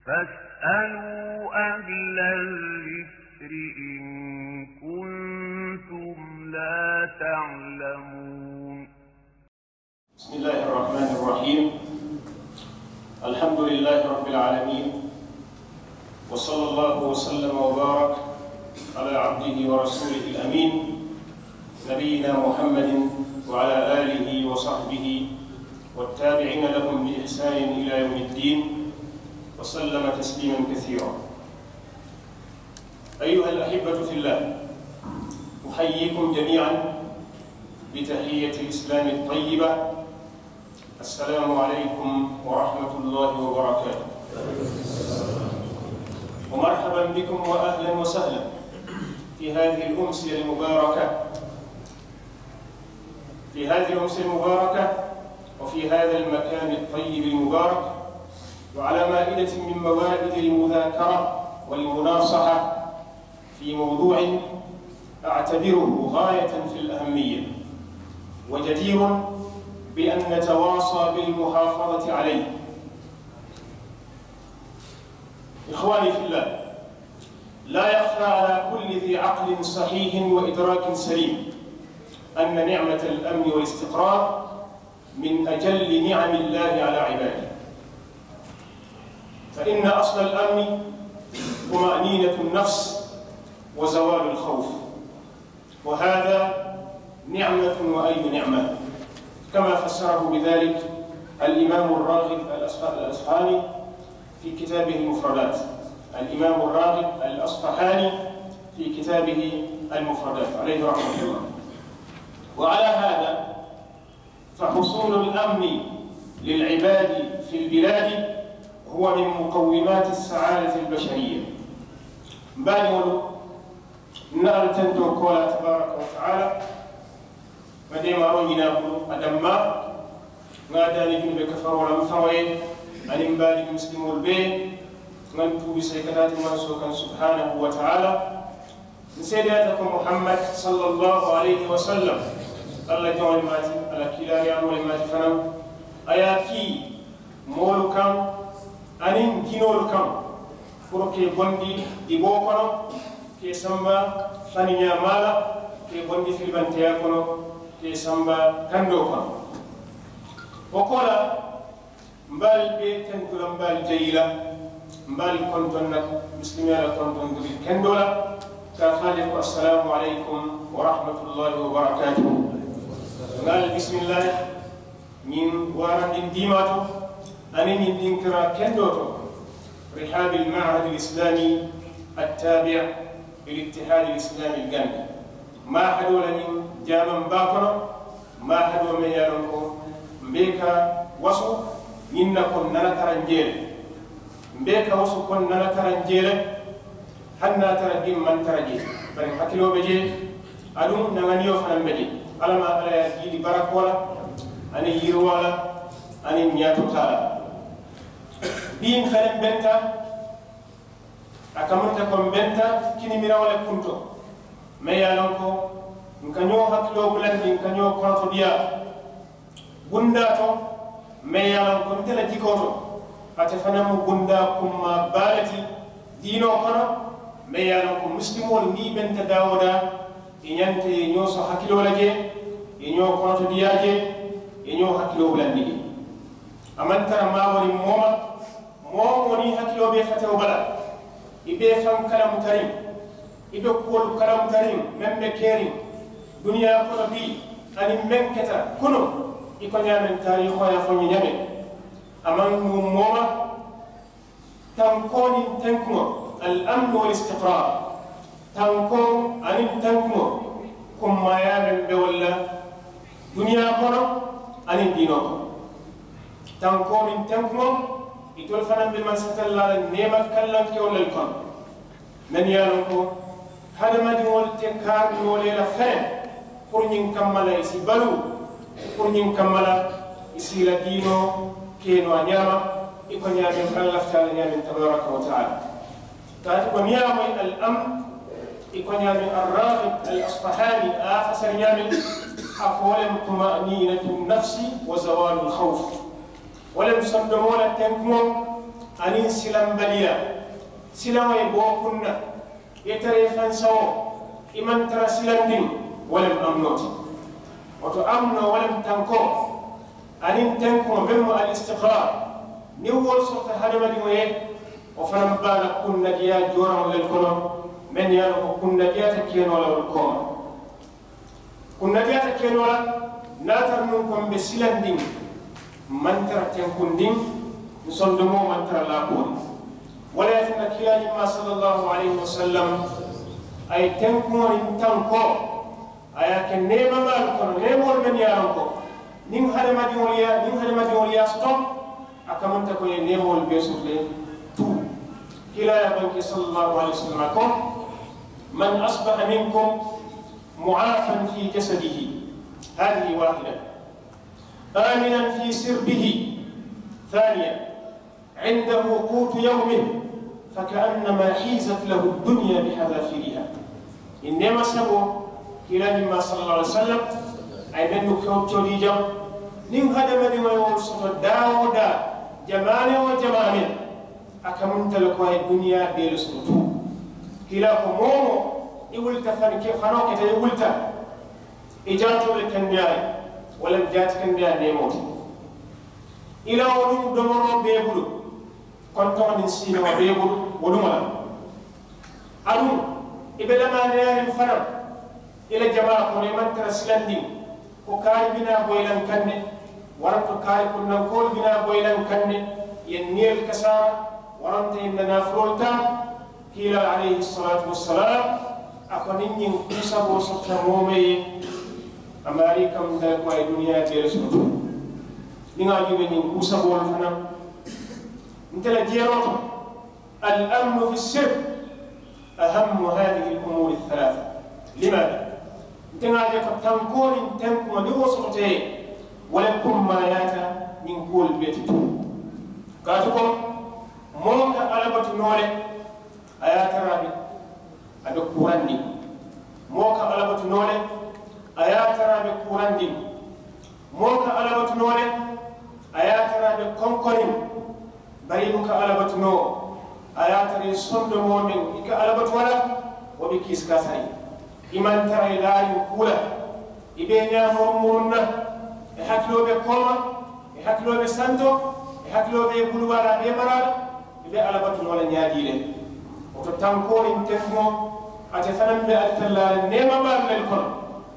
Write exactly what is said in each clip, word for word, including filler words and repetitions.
فاسألوا أهل الذكر إن كنتم لا تعلمون. بسم الله الرحمن الرحيم. الحمد لله رب العالمين. وصلى الله وسلم وبارك على عبده ورسوله الأمين نبينا محمد وعلى آله وصحبه والتابعين لهم بإحسان إلى يوم الدين وسلم تسليما كثيرا. أيها الأحبة في الله، أحييكم جميعا بتحية الإسلام الطيبة، السلام عليكم ورحمة الله وبركاته. ومرحبا بكم وأهلا وسهلا في هذه الأمسية المباركة، في هذه الأمسية المباركة، وفي هذا المكان الطيب المبارك، وعلى مائدة من موائد المذاكرة والمناصحة في موضوع أعتبره غاية في الأهمية، وجدير بأن نتواصى بالمحافظة عليه. إخواني في الله، لا يخفى على كل ذي عقل صحيح وإدراك سليم أن نعمة الأمن والاستقرار من أجل نعم الله على عباده، فإن أصل الأمن طمأنينة النفس وزوال الخوف، وهذا نعمة وأي نعمة، كما فسره بذلك الإمام الراغب الأصف-، الأصفهاني في كتابه المفردات، الإمام الراغب الأصفهاني في كتابه المفردات عليه رحمة الله. وعلى هذا فحصول الأمن للعباد في البلاد هو من مقومات السعادة البشرية. Mbaadiŋolu, n na Alla tentoo koolaa tabaaraka wa taala, ŋa deemaaroo ñini a bulu a dammaa, ŋa a daani junuube kafaroo la n faŋo ye aniŋ mbaadiŋ misilimoolu bee. Ŋa n tuubi sayi ka taa ti mansoo kaŋ subhaanahu wa taala. N seedeyaata ko Muhammad sallallahu alayhi wa sallam, Alla jaŋo le mu a ti, a la kiilaariyaamoo le mu a ti fanaŋ. A ye a kii moolu kaŋ aniŋ jinoolu kaŋ, puru ka i bondi diboo kono, ka i samba faniñaamaa la, ka i bondi filibanteyaa kono, ka i samba kandoo kono. Wo koolaa, mbe ali bee tentu la, mbe ali jayi la, mbe ali kontoŋ na misilimiyaa la kontoŋ duri kendoo la, ka a fo a ye ko assalaamu alaykum wa rahmatullahi wa barakaatuhu. Ŋa ali bisimillaahi ñiŋ waarandiŋ diimaa to aniŋ ñiŋ dinkiraa kendoo to, rihaabil ma'hadil islaami attaabi' lil ittihaadil islaamil gambi. Maahadoo la ñiŋ jaamaŋ baa kono, maahadoo meŋ ye a loŋ ko mbe ka wasu ñiŋ na ko n nana karanjee le, mbe ka wasu ko n nana karanjee le, hani niŋ a tara bii n maŋ tara jee, bari n hakiloo be jee, aduŋ n na ŋaniyoo fanaŋ be jee. Alla maa, Alla ye a jiidi barakoo la aniŋ yiriwaa la aniŋ ñaato taa la. Bii n fanaŋ benta, a kamunta ko m benta kinimiraŋo le kunto, meŋ ye a loŋ ko n ka ñoo hakiloo bulandi, n ka ñoo korotodiyaa bundaa to, meŋ ye a loŋ ko nte la jikoo to, ate fanaŋ mu bundaa kummaa baa le ti diinoo kono, meŋ ye a loŋ ko misilimoolu niŋ i benta daa woo daa, i ñanta i ye ñoo soŋ hakiloo la jee, i ye ñoo korotodiyaa jee, i ye ñoo hakiloo bulandi jee. A maŋ tara maaboriŋ moo ma, moo wo moo niŋ i hakiloo be i fatewo bala, i be i faŋ kalamutariŋ, i be kuwolu kalamutariŋ meŋ be keriŋ duniyaa kono bii aniŋ meŋ keta kunuŋ, i ko ñaameŋ taariihoo ye a fo n ye ñaameŋ. A maŋ nuŋ moo ma, tankoo niŋ tenkuŋo, al amnu wal istiqraar, tankoo aniŋ tenkuŋo, kummaayaa meŋ be wolu la duniyaa kono aniŋ diinoo kono. Tankoo niŋ tenkuŋo, itolu fanaa be mansatallaa la neema kallankewolu le kono, mennu ye a loŋ ko hadamadiŋolu te kaari noo le la feŋ puru ñiŋ kamma la i si baluu, puru ñiŋ kamma la i si i la diinoo ke noo a ñaama, i ko ñaameŋ Alla lafita a la ñaameŋ tabaaraka wa taala. Kaatu ko niŋ i ye a moyi al amnu, i ko ñaameŋ Arraagib al Asfahaani a ye a fasari ñaameŋ, a ko wo le mu tuma'niinatu nafsi wa zawaalu lhawf. Wo le mu sondomoo la tenkuŋo, Aniŋ silambaliya, silaŋo ye bo kunna, ye tara ye fansawoo, i maŋ tara silandiŋ. Wo le mu amunoo ti. Woto amunoo wo le mu tankoo, aniŋ tenkuŋo meŋ mu al istiqraar, niŋ wo le soto hadamadiŋo ye, wo fanaŋ be a la kunnadiyaa jooraŋo le kono, meŋ ye a loŋ ko kunnadiyaata keenoo la wo le kooma. Kunnadiyaata keenoo la, niŋ a tara nuŋ ko mbe silandiŋ, maŋ tara tenkundiŋ, nsondomoo maŋ tara laaboori. Wo le ye a tinna kiilaa ñimmaa sallallahu alayhi wasallam, a ye tenkuŋo niŋ tankoo, a ye a ke neemamaalu kono, neemoolu mennu ye a loŋ ko niŋ hadamadiŋolu ye, niŋ hadamadiŋolu ye a soto, a kamunta ko ye neemoolu bee soto le tuu. Kiilaa ye a banke sallallahu alayhi wasallam a ko, man asbaha minkum mu'afan fi jasadihi, hadihi wahida, aminan fi sirbihi, thaniya, indahu qutu yawmihi, fakaannama hizat lahu dunya bihadafiriha. Ñiŋ neema saboo, kiilaa ñimmaa sallallahu alayhi wasallam, a ye mennu kewcoolii jaŋ, niŋ hadamadiŋo ye wolu soto daa woo daa, jamaane woo jamaane, a kamunta le ko a ye duniyaa bee le soto tuu. Kiilaa ko moo woo moo, i wulita fani ke fanoo keta i wulita, i jaatoo be kendeyaa le, wo le mu jaati kendeyaa neemoo ti. I la wo duŋ domoroo bee bulu, kontoŋo niŋ siinoo bee bulu wo duŋo la. Aduŋ i be lamaaneyaariŋ fanaŋ, i la jamaa kono i maŋ tara silandiŋ, ko kaari bi naa boyi la n kaŋ ne, waranto kaari kunnankoolu bi naa boyi la n kaŋ ne, ye n niyolu kasaara, waranto ye n na naafuloolu taa. Kiilaa alayhi salaatu wasalaam, a ko niŋ ñiŋ kuu saboo sotta moo meŋ ye, a maarii kamunta le ko a ye duniyaa bee le soto. Niŋ a juubee ñiŋ kuu saboolu fanaŋ, nte la jeeroo to, al amnu fi sirr ahammu hadihi al umuri al thalatha. Limaada? Nte ŋa a je ko tankoo niŋ tenkuŋo niŋ wo soto te, wo le kummaayaata ñiŋ kuwolu bee ti tuu. Kaatu ko moo ka alabatu noo le, a ye a tara a be, a be kuurandiŋ. Moo ka alabatu noo le, a ye a tara a be kuurandiŋ. Moo ka alabatu noo le, a ye a tara a be konkoriŋ. Bari i buka alabatu noo, a ye a tara i sondomoo meŋ i ka alabatu a la, wo be kiisi kaasariŋ. I maŋ tara i laariŋ kuu la. I be i ñaa murumuruŋ na, i hakiloo be kooma, i hakiloo be santo, i hakiloo be i buluwaa la a be i maraa la. I be alabatu noo la ñaadii le. Wo to tankoo niŋ tenkuŋo, ate fanaŋ be alitallaa la neemamaalu mennu kono,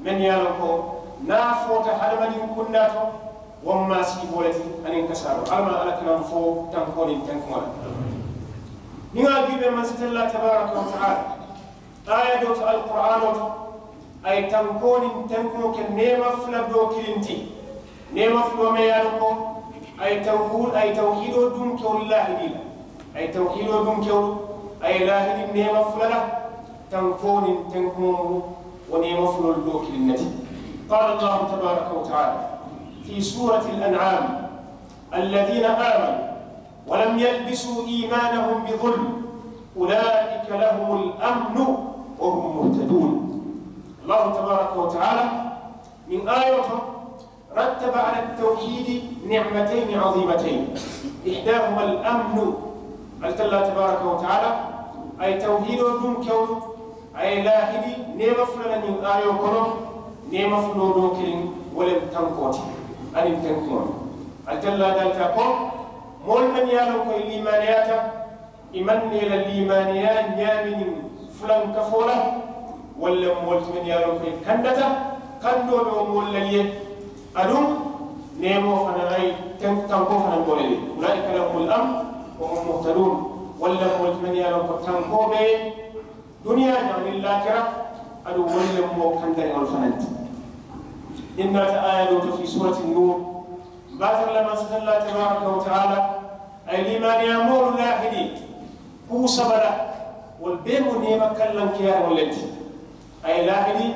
mennu ye a loŋ ko niŋ a foota hadamadiŋ kundaa to, wo mu maasiiboo le ti aniŋ kasaaroo. Alla maŋ alla kanaŋ fo tankoo niŋ tenkuŋo la. Niŋ a juubee mansitallaa tabaaraka wa taala, aaya doo to alquraanoo to, a ye tankoo niŋ tenkuŋo ke neema fula doo kiliŋ ti. Neema fuloo meŋ ye a loŋ ko a ye tawhiidoo dunkewolu laahidii la. A ye tawhiidoo dunkewolu, a ye laahidi neema fula la. Tankoo niŋ tenkuŋo mu wo neema fuloolu doo kiliŋ ne ti. Qaala allahu tabaaraka wa taala fi suurati al an'aam, alladhiina aamanuu wa lam yalbisuu iimaanahum bi zulm, ulaa'ika lahum al amnu wa hum muhtaduun. Allahu tabaaraka wa taala, ñiŋ aayoo to, rattaba ala tawhiidi ni'matayni aziimatayni, ihdaahuma al amnu. Alla tabaaraka wa taala, a ye tawhiidoo dunkewolu, a ye laahidi neema fula la ñiŋ aayoo kono. Neema fuloo doo kiliŋ, wo le mu tankoo ti aniŋ tenkuŋo. Alla dalita ko moolu mennu ye a loŋ ko i liimaaneyaata, i maŋ na i la liimaaneyaa ñaami niŋ fulankafoo la, walla moolu ti mennu ye a loŋ ko i kandata, kandoo be wo moolu la le ye. Aduŋ neemoo fanaŋ a ye tankoo fanaŋ doo le ye. Ulaa'ika lahumul amnu wa hum muhtaduun. Walla moolu ti mennu ye a loŋ ko tankoo be duniyaa jaŋ niŋ laakira. Aduŋ wolu le mu moo kandariŋolu fanaŋ ti. Niŋ naata aaya doo to fii suurati nuur, mbaatara la mansitallaa tabaaraka wa taala, a ye liimaaneyaa moolu laahidi kuu saba la. Wolu bee mu neema kallankeyaariŋolu le ti. A ye laahidi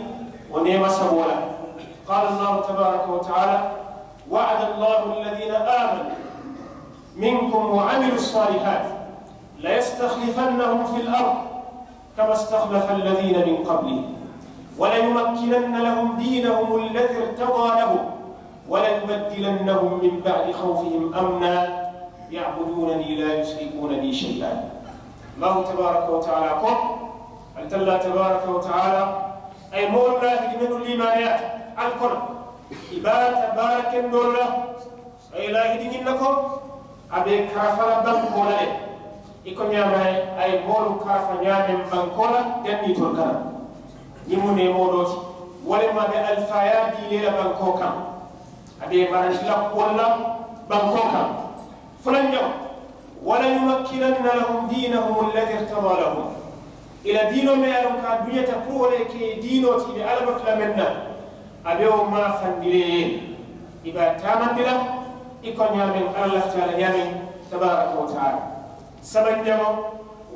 wo neema saboo la. Qaala allahu tabaaraka wa taala, wa'ada allahu alladhiina aamanuu minkum wa amilu ssaalihaati layastaxlifannahum fil ard kama staxlafa alladhiina min qablihim, wa layumakkinanna lahum diinahum alladhii irtadaa lahum, wa layubaddilannahum min ba'di xawfihim amnan, يعبدونني لا يشركون بي شيئا. Allahu tabaaraka wa taala ko, ali talla tabaaraka wa taala a ye moolu laahidi mennu liimaaneyaata ali kono, i baata baara kendoolu la. A ye laahidi ñiŋ na ko a be karafa la bankoo la le. I ko ñaama a ye moolu karafa ñaameŋ bankoo la janniitolu kana. Ñiŋ mu neemoo doo ti. Wo le mu a be alifaayaa diilee la bankoo kaŋ. A be i marandi la kuwolu la bankoo kaŋ. Fulanjaŋo, وليمكنن لهم دينهم الذي ارتضى لهم. I la diinoo meŋ ye a loŋ ko a duñata puru wo le ye ke i diinoo ti i be alla batu la meŋ na. A be wo maafandi le ye i be a taamandi la i ko ñaameŋ alla lafita a la ñaameŋ. Tabaaraka wa taala. Sabanjaŋo,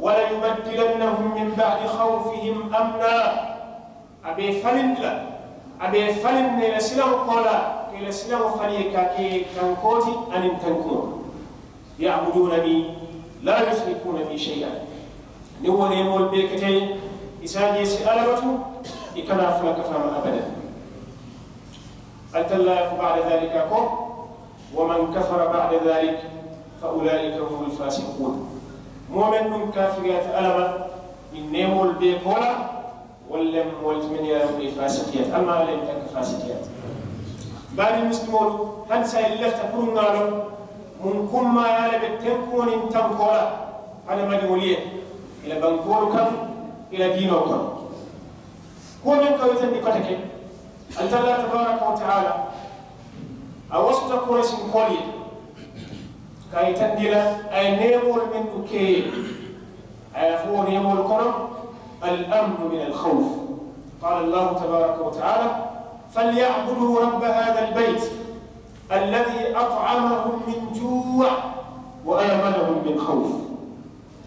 وليبدلنهم من بعد خوفهم أمنا. A be i falindi la, a be i falindi la i la silaŋo koolaa ka i la silaŋo fali ye ka a ke tankoo ti aniŋ tankuŋo. يعبدونني لا يشركون بي شيئا. Niŋ wo neemoolu bee keta i ye, i si a je i si alla batu, i kana a fula kafaa ma abadan. Ali talla a ye ko بعد ذلك a ko, ومن كفر بعد ذلك فأولئك هم الفاسقون. Moo meŋ duŋ kaafiriyaata alla ma ñiŋ neemoolu bee koolaa, wolu le mu moolu ti mennu ye a loŋ ko i faasikiyaata. Alla ma alla ye tanka faasikiyaata. Baarii misilimoolu, hani saayiŋ i lafita puru ŋa a loŋ muŋ kummaayaa le be tenkuŋo niŋ tankoo la hadamadiŋolu ye i la bankoolu kaŋ, i la diinoo kono. Kuwo meŋ ka wo yitandi koteke, ali talla tabaaraka wa taala a wasuta kuraysinkoolu ye ka a yitandi la a ye neemoolu mennu ke i ye. A ye a fo wo neemoolu kono, الأمن من الخوف. قال الله تبارك وتعالى: فليعبدوا رب هذا البيت الذي أطعمهم من جوع وآمنهم من خوف.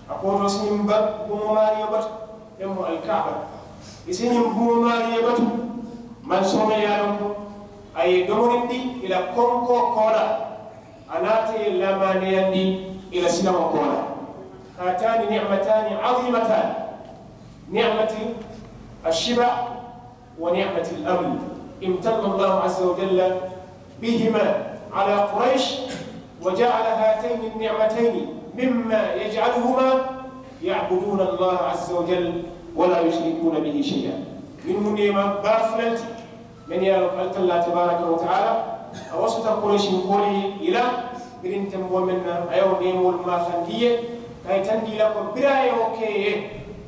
A ko to si ñiŋ ba buŋo maariyo batu, meŋ mu alkaaba, i si ñiŋ buŋo maariyo batu. Mansoo meŋ ye a loŋ ko a ye i domorindi i la konkoo koolaa, a naata i ye laamaaneyandi i la silaŋo koolaa. هاتان نعمتان عظيمتان، نعمة الشبع ونعمة الأمن، امتن الله عز وجل بهما على قريش، وجعل هاتين النعمتين مما يجعلهما يعبدون الله عز وجل ولا يشركون به شيئا. Ñiŋ mu neema baa fula le ti, meŋ ye a loŋ ko ali talla tabaaraka wa taala a wasuta kuraysinkoolu ye i la, biriŋ temboo meŋ na a ye wo neemoolu maafandi i ye, ka a yitandi i la ko biriŋ a ye wo ke i ye,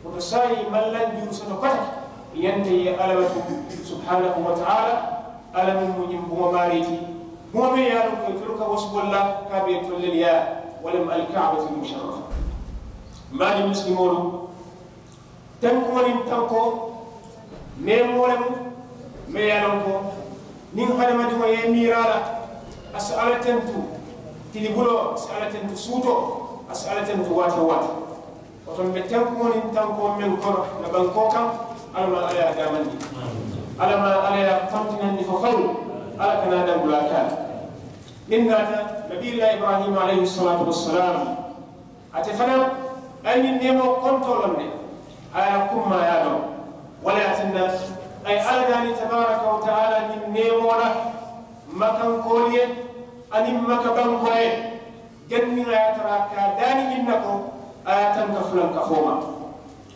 woto saayiŋ i maŋ lanjuru soto koteke. I ñanta i ye alla batu subhaanahu wa taala, alla meŋ mu ñiŋ buŋo maarii ti, buŋo meŋ ye a loŋ ko itolu ka wasu wo le la ka a be itolu le yaa, wo le mu alkaabatul musharrafa. Mbaadi misilimoolu, tenkuŋo niŋ tankoo neemoo le mu meŋ ye a loŋ ko niŋ hadamadiŋo ye i miira a la, a si alla tentu tilibuloo, a si alla tentu suutoo, a si alla tentu waati woo waati. Woto mbe tenkuŋo niŋ tankoo meŋ kono ǹ na bankoo kaŋ, alla maa alla ye a daamandi, alla maa alla ye a kontinandi fo faŋ, alla kana a dambulaa taa. Niŋ naata nabiyullaahi ibraahiima alayhi salaatu wassalaam, ate fanaŋ a ye ñiŋ neemoo kontoo loŋ ne, a ye a kummaa ye a loŋ. Wo le ye a tinna a ye alla daani tabaaraka wa taala ñiŋ neemoo la makankoolu ye aniŋ maka bankoo ye. Janniŋ a ye a tara a ka a daani ñiŋ na ko a ye a tanka fulankafoo ma.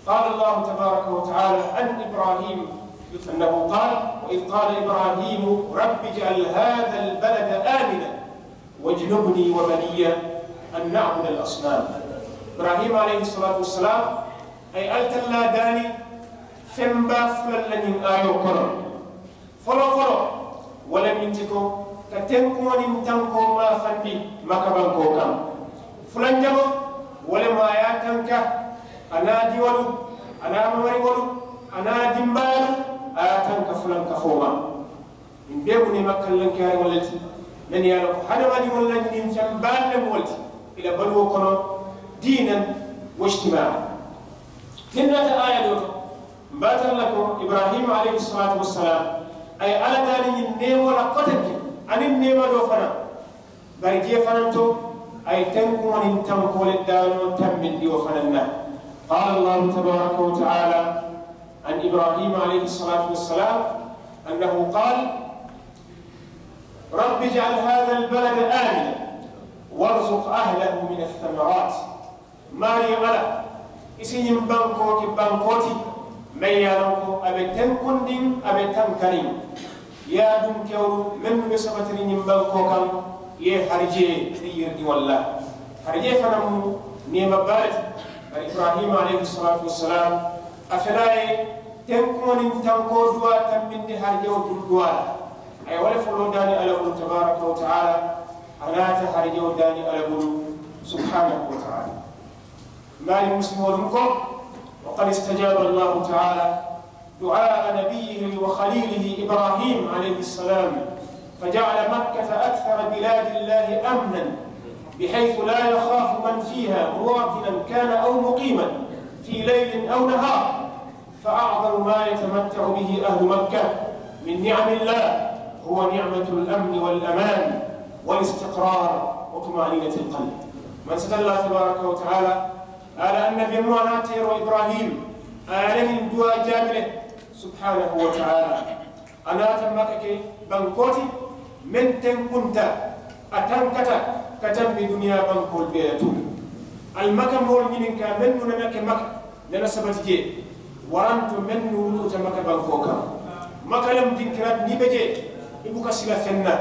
قال الله تبارك وتعالى عن إبراهيم أنه قال: وإذ قال إبراهيم رب اجعل هذا البلد آمنا واجنبني وبني أن نعبد الأصنام. Ibraahiima alayhi salaatu wassalaamu a ye ali tallaa daani feŋ baa fula le la ñiŋ aayoo kono. Foloo foloo wo le mu ñiŋ ti ko ka tenkuŋo niŋ tankoo maafandi maka bankoo kaŋ. Fulanjaŋo wo le mu a ye a tanka a naa diŋolu, a naa mamariŋolu, a naa dimbaalu, a ye a tanka fulankafoo ma. Ñiŋ bee mu neema kallankeyaariŋolu le ti mennu ye a loŋ ko hadamadiŋolu la ñiniŋ feŋ baalu le mu wo le ti i la baluwo kono, diinan wa ijtimaa'an. Niŋ naata aaya doo to, mbe a tara la ko ibraahiima alayhi salaatu wassalaamu a ye alla daani ñiŋ neemoo la kotenke aniŋ neema doo fanaa. Bari jee fanaa to a ye tenkuŋo niŋ tankoo le daanoo tambindi wo fanaa na. Qaala allaahu tabaaraka wa taala an ibraahiima alayhi salaatu wassalaamu annahu qaala: رب اجعل هذا البلد آمنا وارزق أهله من الثمرات. Maariyo Alla, i si ñiŋ bankoo ke bankoo ti meŋ ye a loŋ ko a be tenkundiŋ, a be tankaniŋ. Yaadunkeŋolu mennu be sabatiriŋ ñiŋ bankoo kaŋ, i ye harijee niŋ yiridiŋolu la. Harijee fanaŋ mu neema baa le ti. Bari Ibrahima alayhi salaatu wasalaam, a fele a ye tenkuŋo niŋ tankoo duwaa tambindi harijewo bulu duwaa la. A ye wo le foloo daani Alla bulu tabaaraka wa taala, a naata harijewo daani Alla bulu subhaanahu wa taala. Mbaali muslimoolu n ko, وقد استجاب الله تعالى دعاء نبيه وخليله إبراهيم عليه السلام، فجعل مكة أكثر بلاد الله أمنا، بحيث لا يخاف من فيها مواطنا كان أو مقيما في ليل أو نهار، فأعظم ما يتمتع به أهل مكة من نعم الله هو نعمة الأمن والأمان والاستقرار وطمأنينة القلب. Mansata Alla tabaaraka wa taala, a la annabi muŋ, a naata yeroo Ibrahim, a ye a la ñiŋ duwaa jaabi le, subhaanahu wa taala. A naata Maka ke bankoo ti meŋ tenkunta, a tankata ka tambi duniyaa bankoolu bee la tuŋ. Ali Maka moolu ñininkaa mennu nana ke Maka, nana sabati jee, waranto mennu wuluuta Maka bankoo kaŋ. Maka lemu dinkiraa ti, niŋ i be jee, i buka sila feŋ na.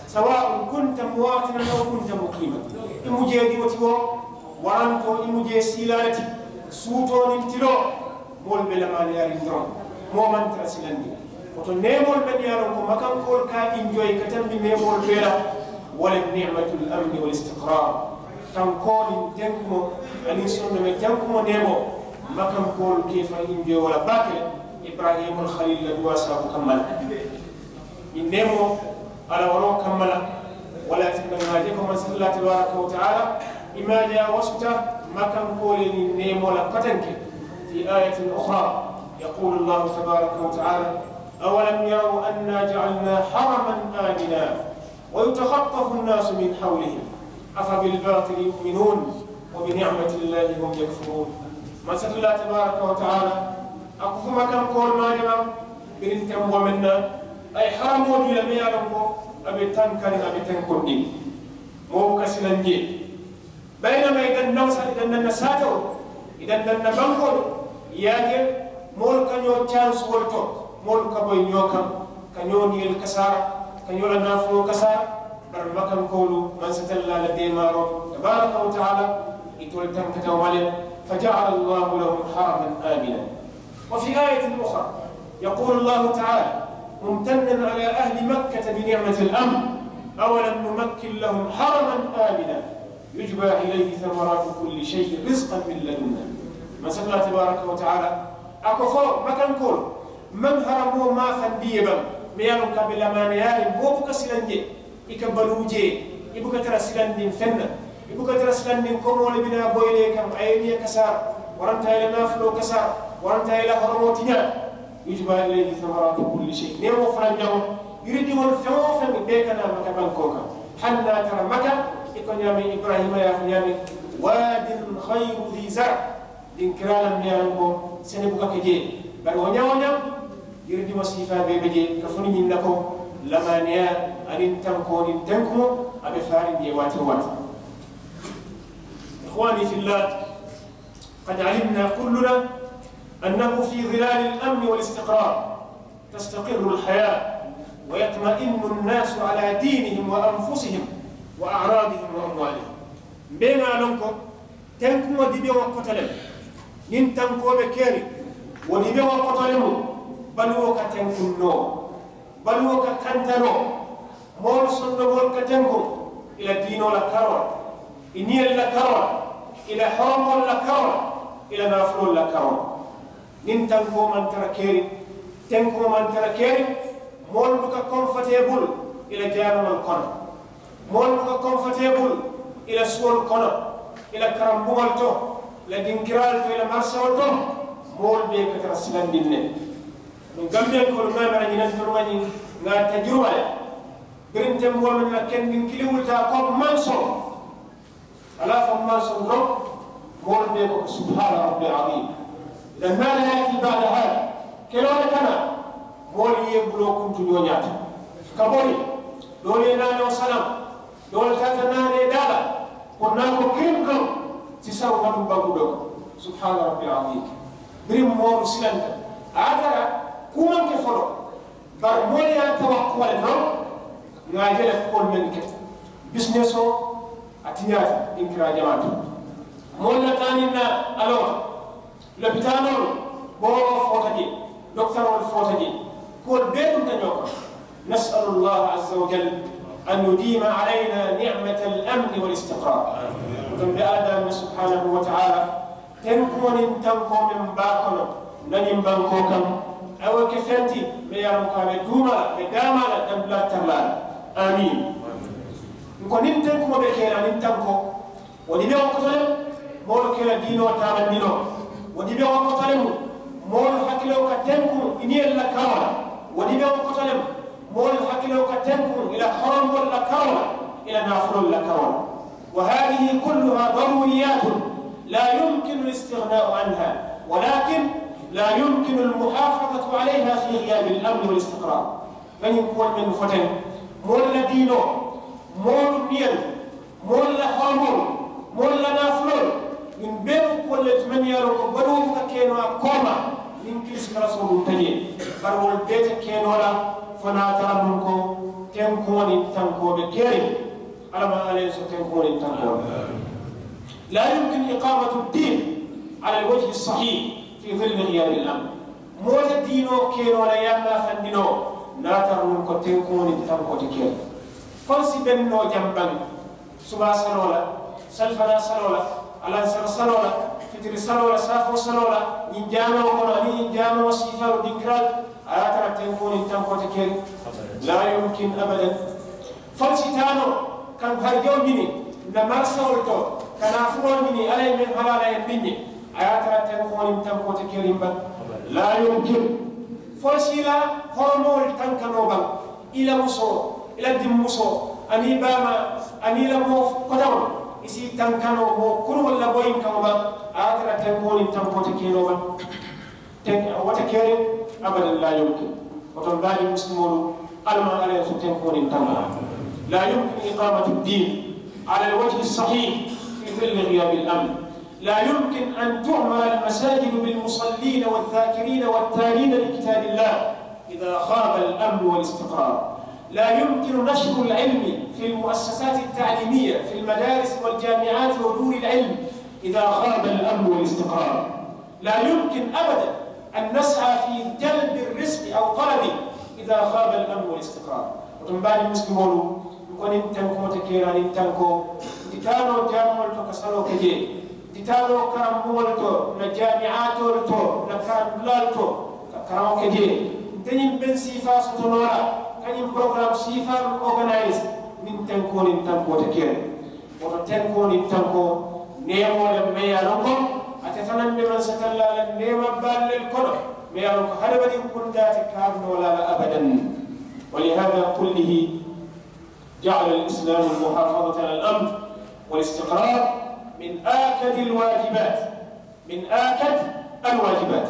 سواء كنت مواطنا أو كنت مقيما. I mu jee diwo ti woo, waranto i mu jee siilaa le ti, suutoo niŋ tiloo, moolu be lamaaniyaariŋ doroŋ, moo maŋ tara silandiŋ. Woto neemoolu mennu ye a loŋ ko makankoolu ka a enjoy ka tambi neemoolu bee la, wo le ni'matul amni wal istiqraar. Tankoo niŋ tenkumoo aniŋ sondomeŋ tenkumoo neemoo, makankoolu ka i faŋ enjoy wo la baake le, Ibrahimul Khaliil la duwaa sabaabu kamma la. Ñiŋ neemoo, Alla waroo kamma la, wo le ye a tinna ŋà a je ko Mansata Allaahu tabaaraka wa taala, i maajaa wasuta makankoolu ye ñiŋ neemoo la kotenke. في آية أخرى يقول الله تبارك وتعالى: أولم يروا أنا جعلنا حرما آمنا ويتخطف الناس من حولهم أفبالباطل يؤمنون وبنعمة الله هم يكفرون. Mansata Allaahu tabaaraka wa taala, a ko fo makankoolu maajaa, biriŋ tenboo meŋ na, a ye haramoo dii la, meŋ ye a loŋ ko a be tankariŋ, a be tenkundiŋ. Moo buka silaŋ jee. Bayinama i dandaŋ sa, i dandaŋ na saatoo, i dandaŋ na bankoo, i ye a je moolu ka ñoo cansuwolu to, moolu ka boyi ñoo kaŋ, ka ñoo niyolu kasaara, ka ñoo la naafuloo kasaara. Bari makankoolu, Mansata Allaahu la deemaaroo tabaaraka wa taala, itolu tankata wo le, فجعل الله لهم حرما آمنا. وفي آية أخرى يقول الله تعالى ممتنا على أهل مكة بنعمة الأمن: أولم نمكن لهم حرما آمنا يجبى إليه ثمرات كل شيء رزقا من لدنا. Mansata Allaahu tabaaraka wa taala, a ko fo makankoolu, maŋ haramoo maafandi i ye baŋ, meŋ ye a loŋ ko a be lamaaniyaariŋ, moo buka silaŋ jee. I ka baluu jee, i buka tara silandiŋ feŋ na, i buka tara silandiŋ komoo le bi naa boyi le i kaŋ, a ye i niya kasaara, waranta a ye i la naafuloo kasaara, waranta a ye i la horomoo tiñaa. يجبى إليه ثمرات كل شيء. Neemoo fanaŋ jaŋo, yiridiŋolu feŋ woo feŋ, i bee ka naa Maka bankoo kaŋ. Hani niŋ a tara Maka, i ko ñaameŋ Ibrahima ye a fo ñaameŋ: واد غير ذي زرع. Dinkiraa le meŋ ye a loŋ ko sene buka ke jee. Bari wo ñaa woo ñaa, yiridiŋo siifaa bee be jee, ka fo niŋ ñiŋ na ko lamaaniyaa aniŋ tankoo niŋ tenkumoo, a be faariŋ jee waati woo waati. إخواني في الله، قد علمنا كلنا أنه في ظلال الأمن والاستقرار تستقر الحياة ويطمئن الناس على دينهم وأنفسهم وأعراضهم وأموالهم. Mbe ŋà a loŋ ko tenkuŋo dibeŋo koto le mu. Niŋ tankoo be keriŋ, wo dibeŋo koto le mu. Baluwo ka tenkuŋ noo, baluwo ka kanta noo. Moolu sondomoolu ka tenkuŋ i la diinoo la karoo la, i niyolu la karoo la, i la horomoolu la karoo la, i la naafuloolu la karoo la. Niŋ tankoo maŋ tara keriŋ, tenkuŋo maŋ tara keriŋ, moolu buka konfotee bulu i la jaanuŋolu kono. Moolu buka konfotee bulu i la suwolu kono, i la karambuŋolu to, i la dinkiraalu to, i la marisewolu to. Moolu bee ka tara silandiŋ ne. Nuŋ gambiyankoolu ŋà a mera ñiŋ na, ntolu ŋà ñiŋ ŋà a tajuruba le. Biriŋ tenboo meŋ na kendiŋ kiliŋ wulita a ko mansoŋ. Alaa fo mansoŋ doroŋ, moolu bee ko سبحان ربي العظيم. لن نال يأتي بعد هذا. Keloo le ka naa, moolu ye i buloo kuntu ñoo ñaata ka bori. Doolu ye naanoo salaŋ, doolu taata naanee daa la. Ko naa ko kiriŋ kaŋ si saru watu baŋ ko doo ko. Subhaana rabbi alazim. Biriŋ moolu silanta a ye a tara kuu maŋ ke foloo. Bari moolu ye a tawa kuwo le doroŋ. Ŋa a je le kuwolu mennu keta bisinesoo a tiñaata. Dinkiraa jamaata moolu la taaniŋ naa a loota. Lopitaanoolu booroo foota jee. Dokitaroolu foota jee. Kuwolu bee dunta ñoo kono. Nasalu allah azza wa jal an yudima alayna nicmata al amni wal istiqrar. Kono be alla daani subhanahu wa taala tenkuŋo niŋ tankoo meŋ baa kono na ñiŋ bankoo kaŋ. A wo ke feŋ ti meŋ ye a loŋ ko a be duuma la be daamaa la dandulaa tarlaa la. Amiin. N ko niŋ tenkuŋo be kee la niŋ tankoo wo dibeŋo koto le. Moolu ke la diinoo taamandinoo wo dibeŋo koto le mu. Moolu hakiloo ka tenkuŋ i niŋ yelu la karoo la. Wo dibeŋo koto le mu. Moolu hakiloo ka tenkuŋ i la horomoolu la karoo la i la naafuloolu la karoo la. Wa hadihi kulluha daruriyatun la yumkinu al istighnau anha, walakin la yumkinu al muhafadatu alayha fi ghiyabi al amni wal istiqrar. Ŋa ñiŋ kuwolu mennu fo teŋ moolu la diinoo moolu niyelu moolu la horomoolu moolu la naafuloolu. Ñiŋ bee mu kuwolu le ti mennu ye a loŋ ko baluwo buka keenoo a kooma niŋ kilisikalasoolu nta jee. Bari wolu bee te keenoo la fo naa tara nuŋ ko tenkuŋo niŋ tankoo be keeriŋ. Alla maŋ alla ye so tenkuŋo niŋ tankoo la. La yumkin iqamatu ddin ala alwajhi sahih fi dilli ghiyabi al amn. Moo te diinoo keenoo la ye a maafandinoo naa tara nuŋ ko tenkuŋo niŋ tankoo te keeriŋ. Fo n si bennoo jambaŋ subaa saloo la, salifanaa saloo la, alansara saloo la, fitiri saloo la, saafoo saloo la, ñiŋ jaamewo kono aniŋ ñiŋ jaamewo siifaalu dinkiraalu a ye a tara tenkuŋo niŋ tankoo te keeriŋ. La yumkin abadan. Fo n si taa noo ka n harijawo ñini n na marisawolu to ka naafuloo ñini alla ye meŋ halaa la ye n diŋ ñe a ye a tara tenkuŋo niŋ tankoo te keeriŋ baŋ. La yumkin. Fo n si i la horomowolu tanka noo baŋ. I la musoo i la dimmusoo aniŋ i baamaa aniŋ i la moo kotaŋo i si i tanka noo moo kuruŋolu la boyinkaŋo baŋ. A ye a tara tenkuŋo niŋ tankoo te keenoo baŋ. Ten wo te keriŋ. Abadan la yumkin. Woto n baadi muslimoolu alla maŋ alla ye so tenkuŋo niŋ tankoo. La yumkin iqamatu ddin ala alwajhi sahih fi dilli ghiyabi al amn. لا يمكن أن تعمر المساجد بالمصلين والذاكرين والتالين لكتاب الله إذا غاب الأمن والاستقرار. لا يمكن نشر العلم في المؤسسات التعليمية في المدارس والجامعات ودور العلم إذا غاب الأمن والاستقرار. لا يمكن أبدا أن نسعى في جلب الرزق أو طلبه إذا غاب الأمن والاستقرار. Woto n baadi muslimoolu n ko niŋ tenkuŋo te keenaa niŋ tankoo n ti taa noo jaamoolu to ka saloo ke jee. N ti taa noo karambuŋolu to n na jaamiaatoolu to n na karandulaalu to ka karaŋo ke jee. Nte ñiŋ beŋ siifaa soto noo la ka ñiŋ porogaraamu siifaalu organise niŋ tenkuŋo niŋ tankoo te keriŋ. Woto tenkuŋo niŋ tankoo neemoo le meŋ ye a loŋ ko ate fanaŋ be mansatallaa la neema baalu le kono meŋ ye a loŋ ko hadamadiŋ kundaa te kaaru noo la a la abadan. Wa lihada kullihi jaala al islaamu al muhaafadata ala al amn wal istiqraar min aakadi al waajibaat. Min aakadi al waajibaat.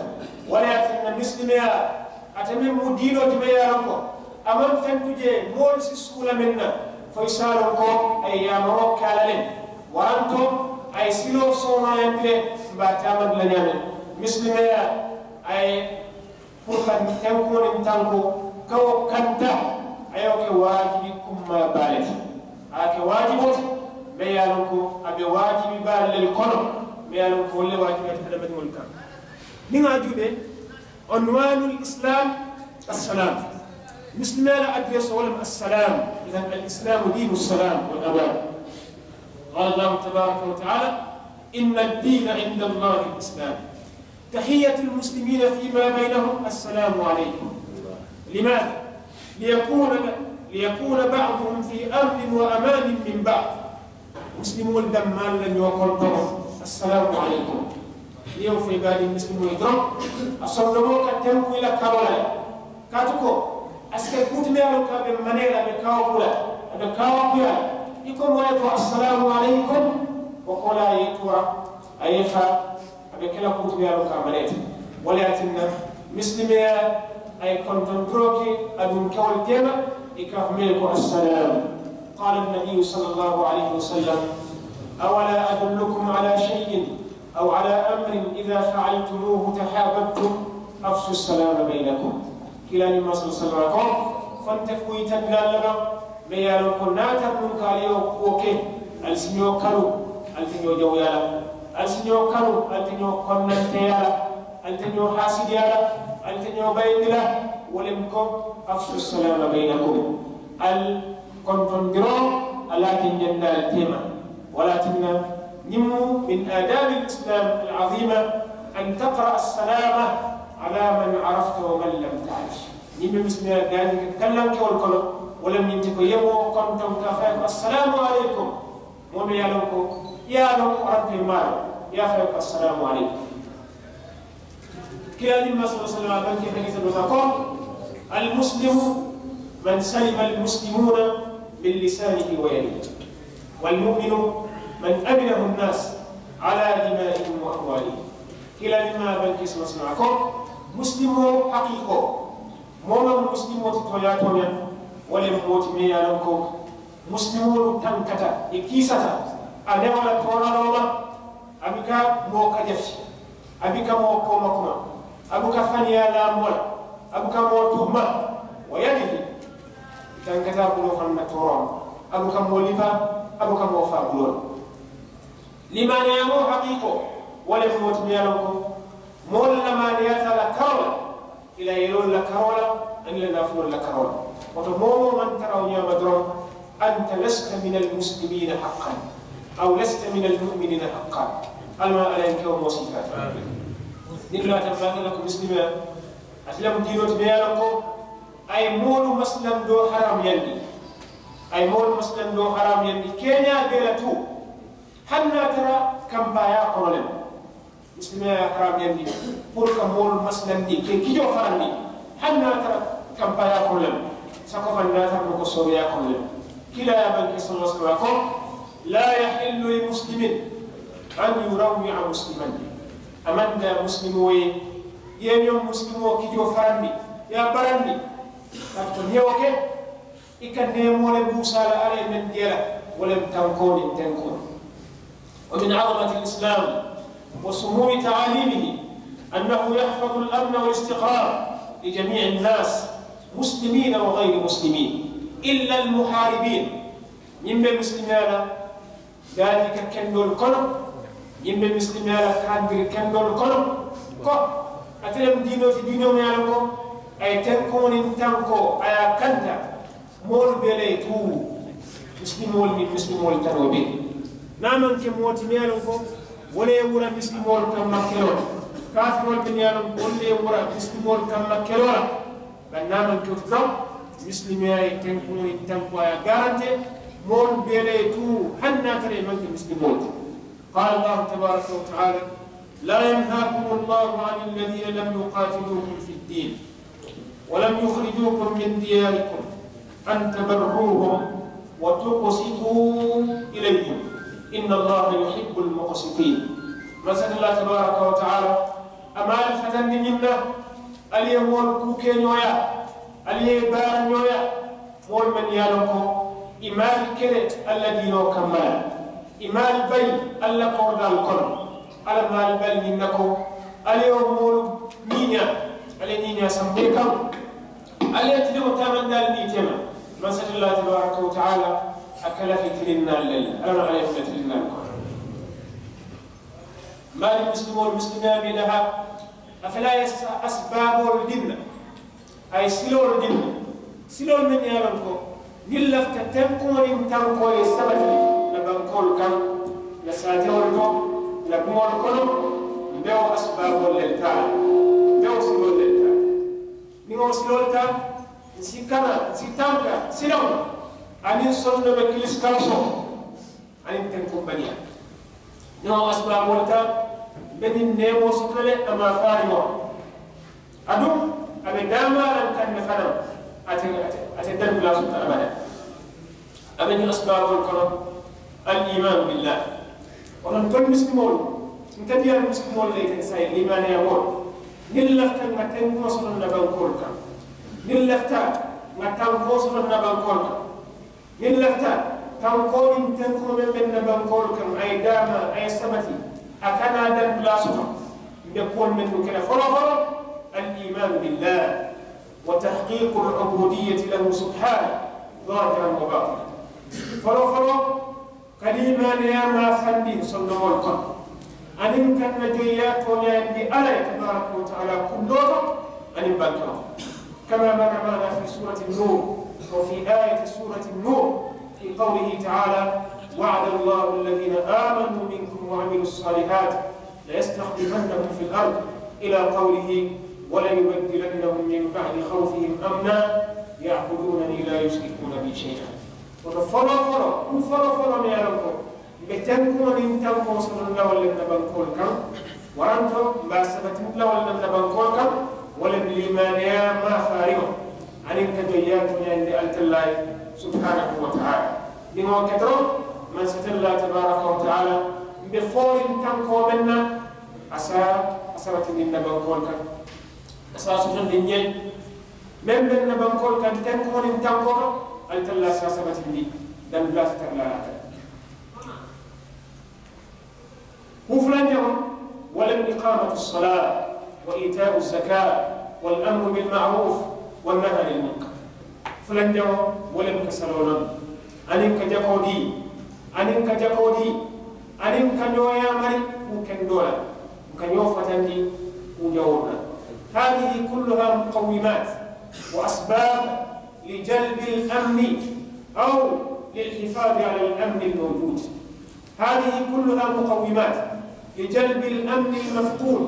Wo le ye a tinna misilimeyaa ate meŋ mu diinoo ti meŋ ye a loŋ ko a maŋ fentu jee moolu si suula meŋ na fo i si a loŋ ko a ye yaamaroo ke a la le. Waranto a ye siloo soomaayandi le mbe a taamandi la ñaameŋ. Misilimeyaa a ye puru ka tenkuŋo niŋ tankoo ka wo kanta a ye wo ke waajibi kummaa baa le ti. A ye ke waajiboo ti meŋ ye a loŋ ko a be waajibi baalu le kono meŋ ye a loŋ ko wolu le waajibi ate hadamadiŋolu kaŋ. Niŋ a juubee عنوان الإسلام السلام. Misilimeyaa la adressoo wo le mu السلام. إذن الإسلام دين السلام والأمان. قال الله تبارك وتعالى إن الدين عند الله الإسلام. تحية المسلمين فيما بينهم السلام عليكم. لماذا؟ ليكون ليكون بعضهم في أمن وأمان من بعض. Misilimoolu dammaalu la ñoo kontoŋo. Assalaamu aleykum. Niŋ i ye wo fo i be a diŋ misilimoolu doroŋ a sondomoo ka tenkuŋ i la karoo la le. Kaatu ko a si ke kuu ti meŋ ye a loŋ ko a be manee la a be kaawoo kuu la a be kaawoo kuyaa la. I ko moo ye ko assalaamu aleykum. Wo koolaa ye i tuura a ye i faa. A be ke la kuu ti meŋ ye a loŋ ko a manee ti. Wo le ye a tinna misilimeyaa a ye kontondiroo ke aduŋ kewolu teema. I ka a fo meŋ ye ko assalaamu. Qaala annabiyu salla allahu alayhi wa sallam. أولا أدلكم على شيء أو على أمر إذا فعلتموه تحاببتم أفشوا السلام بينكم. Kiilaa ñiŋ maŋ sala sala ko fo nte ku yitandi la le baŋ? Meŋ ye a loŋ ko naata nuŋ ka ali ye wo kuwo ke, ali si ñoo kanu, ali te ñoo jawuyaa la, ali si ñoo kanu, ali te ñoo konnanteeyaa la, ali te ñoo haasidiyaa la, ali te ñoo bayindi la. Wo le mu ko أفشوا السلام بينكم. Ali kontondiroo, ali a jenjenda ali teema. Wo le ye a tinna ñiŋ mu من آداب الإسلام العظيمة أن تقرأ السلام على من عرفت ومن لم تعرف. Ñiŋ be misilimiyaa daani ka kallankewolu kono, wo le mu ñiŋ ti ko i ye moo kontoŋ ka a fo a ye ko السلام عليكم. Moo meŋ ye a loŋ ko i ye a loŋ, waraŋ ko i maŋ a loŋ, i ye a fo a ye ko السلام عليكم. Kiilaa ñiŋ maŋ sala sala a bankee hadiisa doo la ko: المسلم من سلم المسلمون من لسانه ويده، والمؤمن من أمنه الناس على دمائهم وأموالهم. Kiilaa ñiŋ maŋ a bankee sala sala a ko: Musilimoo haqiiqoo, moo meŋ mu musilimoo ti tooñaa tooñaa, wo le mu moo ti meŋ ye a loŋ ko musilimoolu tankata, i kiisata a newoo la tooraloo ma. A buka moo kajafi, a buka moo koomakuma, a buka faniyaa laa moo la, a buka moo tuhuma. ويده, i tankata a buloo fanaŋ na tooroo ma, a buka moo lipa, a buka moo faa buloo la. Limaaniyaa moo haqiiqoo, wo le mu moo ti meŋ ye a loŋ ko moolu lamaaniyaata a la karoo la, i la yeloolu la karoo la, aniŋ i la naafuloolu la karoo la. Wo to moo woo moo maŋ tara wo ñaama doroŋ, أنت لست من المسلمين حقا، أو لست من المؤمنين حقا. Alla maŋ Alla ye n ke wo moo sifaati. Niŋ laatammaata la ko misilimiyaa, ate le mu diinoo ti meŋ ye a loŋ ko a ye moolu masilandoo haraamuyandi, a ye moolu masilandoo haraamuyandi keeñaa bee la tuu, hani niŋ a tara kampaayaa kono le mu. Misilimiyaa ye a haraamuyandi puru ka moolu masilandi, ka i kijoo farandi, hani niŋ a tara kampaayaa kono le mu. Sako fanaŋ niŋ a tara noo ko sooneeyaa kono le mu. Kiilaa ye a bankee sala sala a ko: لا يحل لمسلم أن يروع مسلما. A maŋ daa musilimoo ye, i ye ñoŋ musilimoo kijoo farandi, i ye a barandi, kaatu ko niŋ i ye wo ke, i ka neemoo le buusaa la Alla ye meŋ dii a la, wo le mu tankoo niŋ tenkoo. ومن عظمة الإسلام وسمو تعاليمه أنه يحفظ الأمن والاستقرار لجميع الناس مسلمين وغير مسلمين إلا المحاربين. Ñiŋ be misilimiyaa la daani ka kendoolu kono, ñiŋ be misilimiyaa la kaandiri kendoolu kono, ko ate le mu diinoo ti, diinoo meŋ ye a loŋ ko a ye tenkoo niŋ tankoo a ye a kanta moolu bee le ye tuu, misilimoolu niŋ misilimoolu tanoo bee. Niŋ a maŋ ke moo ti meŋ ye a loŋ ko wo le ye wura misilimoolu kamma keloo la, kaafiroolu mennu ye a loŋ ko wolu le ye wura misilimoolu kamma keloo la, bari niŋ a maŋ ke wo ti doroŋ, misilimiyaa ye tenkuŋo niŋ tankoo a ye a garante moolu bee le ye tuu, hani niŋ a tara i maŋ ke misilimoolu ti. قال الله تبارك وتعالى: لا ينهاكم الله عن الذين لم يقاتلوكم في الدين ولم يخرجوكم من دياركم أن تبروهم وتقسطوا إليهم إن الله يحب المقسطين. Mansata Allaahu tabaaraka wa taala, a maŋ ali fatandi ñiŋ na, ali ye moolu kuu ke ñooyaa, ali ye i baara ñooyaa, moolu mennu ye a loŋ ko i maŋ ali kele Alla diinoo kamma la, i maŋ ali bayi Alla korodaalu kono. Alla maŋ ali bali ñiŋ na ko ali ye wo moolu ñiiñaa, ali ye ñiiñaa sanbee kaŋ, ali ye tiliŋo taamandi ali niŋ i teema. Mansata Allaahu tabaaraka wa taala, a ka lafi tilinnaalu le la. Alla maŋ ali ye fula tilinnaalu kono. M̀ baalu misilimoolu, misilimiyaa be i dahaa, a fele a ye asibaaboolu dii n na, a ye siloolu dii n na, siloolu mennu ye a loŋ ko niŋ n lafita tenkuŋo niŋ tankoo ye sabati n na bankoolu kaŋ, n na saatewolu to, n na buŋolu kono, m̀ be wo asibaaboolu le taa la, m̀ be wo siloolu le taa la. Niŋ ŋa wo siloolu taa, ǹ si kana, ǹ si tanka silaŋo la, aniŋ sondomekilisikansoo, aniŋ tenkumbaliyaa. Niŋ ŋa wo asibaaboolu taa, m̀ be ñiŋ neemoo soto la le, a maŋ a faarimoo. Aduŋ a be daamaaraŋ kaŋ ne fanaa, ate, ate, ate dali dulaa soto abada. A be ñiŋ asibaaboolu kono, al iimaanu billaahi. Wo to ntolu misilimoolu, nte diyaalu misilimoolu le ye ke saayiŋ, liimaaniyaa moolu, niŋ n lafita ŋà tenkuŋo soto n na bankoolu kaŋ, niŋ n lafita ŋà tankoo soto n na bankoolu kaŋ, niŋ n lafita Tankoo niŋ tenkoo meŋ be n na bankoolu kaŋ, a ye daama, a ye sabati, a kana daŋ dulaa soto. N be kuwolu mennu ke la foloo foloo, الإيمان بالله وتحقيق العبودية له سبحانه ظاهرا وباطنا. Foloo foloo, ka liimaaniyaa maafandi sondomoolu kono, aniŋ ka n na joyiyaa tooñaayandi Alla ye tabaaraka wa taala kundoo to aniŋ bankaŋo to. كما مر معنا في سورة النور، وفي آية سورة النور، في قوله تعالى: وعد الله الذين آمنوا منكم وعملوا الصالحات ليستخلفنهم في الأرض، إلى قوله: وليبدلنهم من بعد خوفهم أمنا يعبدونني لا يشركون بي شيئا. Woto foloo foloo, kuŋ foloo foloo meŋ ye a loŋ ko, mbe tenkuŋo niŋ tankoo soto n la walla n na bankoolu kaŋ, waranto mbe a sabati n la walla n na bankoolu kaŋ, wo le mu liimaaniyaa maafaariŋo, aniŋ ka joyiyaa tooñaayandi Alla tallaa ye, subhaanahu wa taala. Niŋ wo ke doroŋ, mansa tallaa tabaaraka wa taala, mbe fooriŋ tankoo meŋ na, a si a sabatindi n na bankoolu kaŋ. A si a sotondi n ye, meŋ be n na bankoolu kaŋ, tenkuŋo niŋ tankoo to, Alla tallaa si a sabatindi, daŋ dulaa si tara la a la. Kuu fulanjaŋo, wo le mu إقامة الصلاة وإيتاء الزكاة والأمر بالمعروف والنهي عن المنكر. Fulanjaŋo, wo le mu ka saloo loŋ, aniŋ ka jakoo dii, aniŋ ka jakoo dii, aniŋ ka ñoo yaamari kuu kendoo la, ka ñoo fatandi kuu jawoolu la. هذه كلها مقومات وأسباب لجلب الأمن أو للحفاظ على الأمن الموجود. هذه كلها مقومات لجلب الأمن المفقود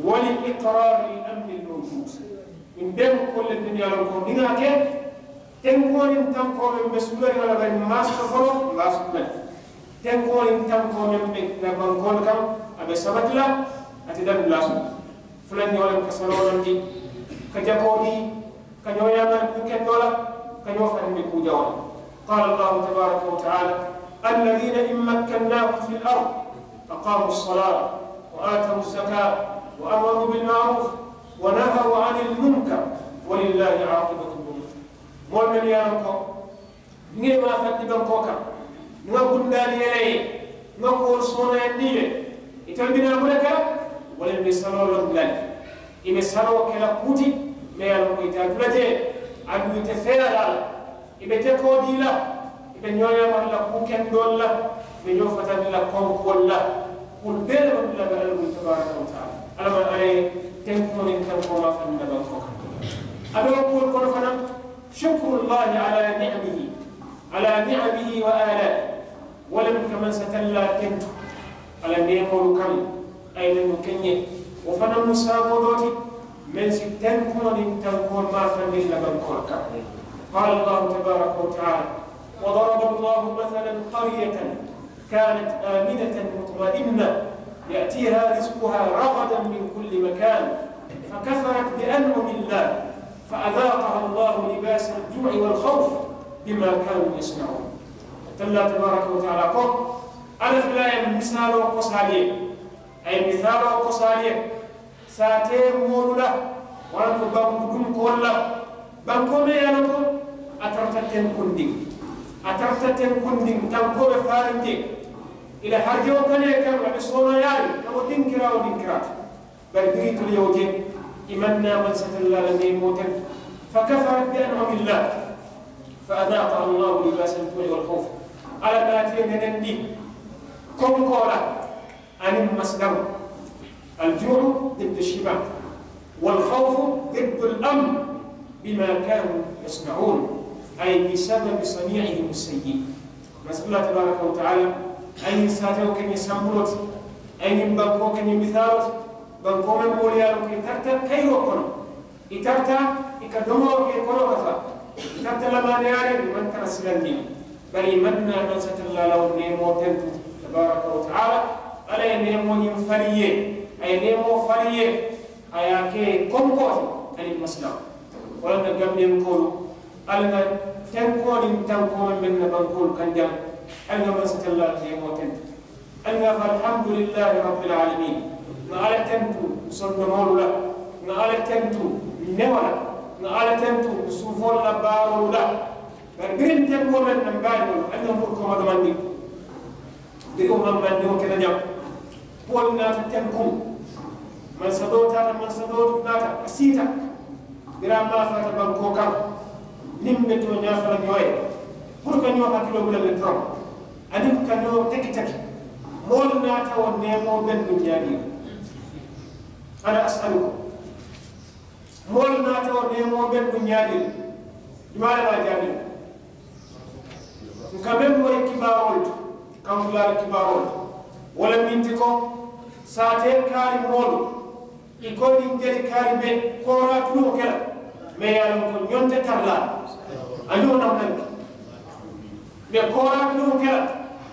ولإقرار الأمن الموجود. Ñiŋ bee mu kuwo le ti, niŋ ye a loŋ ko niŋ a ke, tenkuŋo niŋ tankoo meŋ be suulariŋ a la, bari maŋ a soto foloo, maŋ a soto le. Tenkuŋo niŋ tankoo meŋ be n na bankoolu kaŋ, a be sabati la, ate daŋ dulaa soto. Fulanjaŋo le mu ka saloo londi, ka jakoo dii, ka ñoo yaamari kuu kendoo la, ka ñoo fatandi kuu jawoo la. قال الله تبارك وتعالى: الذين إن مكناهم في الأرض أقاموا الصلاة وآتوا الزكاة وأمروا بالمعروف ونهوا عن المنكر ولله عاقبة الأمور. Moolu mennu ye a loŋ ko, Niŋ ì maafandi bankoo kaŋ, niŋ ŋa bundaali yele i ye, niŋ ŋa kuwolu sooneeyandi i ye, itelu bi naa muŋ ne ke la? Wo le be saloo londi la le. I be saloo ke la kuu ti, meŋ ye a loŋ ko ite a tu la jee, aduŋ ite feeyaa la a la. I be jakoo dii la, i be ñoo yaamari la kuu kendoolu la, i be ñoo fatandi la konkuwolu la. Kuwolu bee le be dulaa be Alla bulu tabaaraka wa taala. Alla maŋ Alla ye tenkuŋo niŋ tankoo maafandi la bankoo kaŋ. A be wo kuwolu kono fanaŋ, شكر الله على نعمه، على نعمه وآلائه. Wo le mu ka mansa tallaa tentu a la neemoolu kaŋ, a ye mennu ke n ye. Wo fanaŋ mu sababoo doo ti meŋ si tenkuŋo niŋ tankoo maafandi n na bankoolu kaŋ. قال الله تبارك وتعالى: وضرب الله مثلا قرية كانت آمنة مطمئنة يأتيها رزقها رغدا من كل مكان فكفرت بأنعم الله فأذاقها الله لباس الجوع والخوف بما كانوا يصنعون. Tallaa tabaaraka wa taala ko, Alla fele a ye misaaloo kosaali ye, a ye misaaloo kosaali ye, saatee moolu la, waraŋ ko banku dunkoolu la. Bankoo meŋ ye a loŋ ko a tarata tenkundiŋ, a tarata tenkundiŋ, tankoo be faariŋ jee, i la harijaŋo kanee kaŋ, a be sooneeyaariŋ ka bo dinkiraa wo dinkiraa to. Bari biriŋ itelu ye wo je, i maŋ naa mansa tallaa la neemoo tentu. فكفرت بأنعم الله فأذاقها الله لباس الجوع والخوف. Alla naata i nenendi konkoo la aniŋ masilaŋo. الجوع ضد الشبع، والخوف ضد الأمن، بما كانوا يصنعون، أي بسبب صنيعهم السيء. Mansa Alla tabaaraka wa taala, a ye ñiŋ saatewo ke ñiŋ sambuloo ti, a ye ñiŋ bankoo ke ñiŋ misaaloo ti, bankoo meŋ moolu ye a loŋ ko i tarata kayiroo kono, i tarata i ka domoo ke i kono ka faa, i tarata lamaaniyaariŋ, i maŋ tara silandiŋ. Bari i maŋ naa mansa tallaa la wo neemoo tentu, tabaaraka wa taala. Alla ye neemoo ñiŋ fali i ye, a ye neemoo fali i ye, a ye a ke konkoo ti aniŋ masilaŋo. Wo le na gambiyankoolu, ali ŋa tenkuŋo niŋ tankoo meŋ be n na bankoolu kaŋ jaŋ, ali ŋa mansa tallaa la neemoo tentu. Ali ŋa a fo, الحمد لله رب العالمين. Ŋa Alla tentu sondomoolu la, ŋa Alla tentu newo la, ŋa Alla tentu suufoolu la baaroolu la. Bari biriŋ tenkuŋo meŋ na, m baadiŋolu, ali ŋa murukoma domandi. Biriŋo maŋ mandiŋo ke la jaŋ. Kuwolu naata tenkuŋ. Mansa doo taata, mansa doo naata, a siita. Biriŋ a maafaata bankoo kaŋ, niŋ be tooñaa fo la ñoo ye, puru ka ñoo hakiloo bula le doroŋ, aniŋ ka ñoo teki teki. Moolu naata wo neemoo bennu ñaadii la. Ana asalukum. Moolu naata wo neemoo bennu ñaadii la. Jumaa le maa jaabi la? N ka meŋ moyi kibaaroolu to, kankulaari kibaaroolu to, wo le minti ko, saatee kaari moolu, i ko niŋ jeli kaari be kooraa tuluŋo ke la, mee ye a loŋ ko ñonte tara la a ñoo naŋ naŋ. Mee kooraa tuluŋo ke la,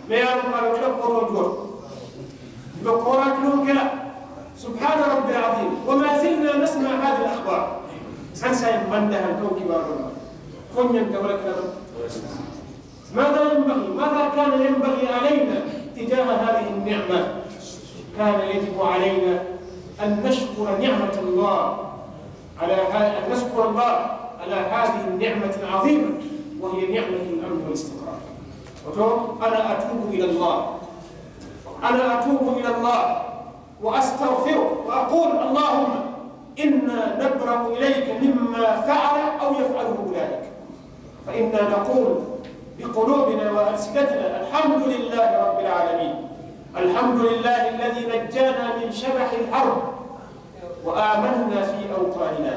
mee ye a loŋ ko a be ke la kootoo juwo to. Be kooraa tuluŋo ke la. Subhaana rabbi al-aziim. Wa maa zilnaa nasma'u haadihi al-axbaar. Saayiŋ saayiŋ maŋ dahaŋ kaŋ kibaaroolu la. Fo ñanta wo le ke la. ماذا ينبغي، ماذا كان ينبغي علينا تجاه هذه النعمة؟ كان يجب علينا أن نشكر نعمة الله على ها-، أن نشكر الله على هذه النعمة العظيمة، وهي نعمة الأمن والاستقرار. Woto, أنا أتوب إلى الله. أنا أتوب إلى الله. وأستغفرك وأقول: اللهم إنا نبرأ إليك مما فعل أو يفعله أولئك، فإنا نقول بقلوبنا وألسنتنا: الحمد لله رب العالمين، الحمد لله الذي نجانا من شبح الأرض وآمنا في أوطاننا.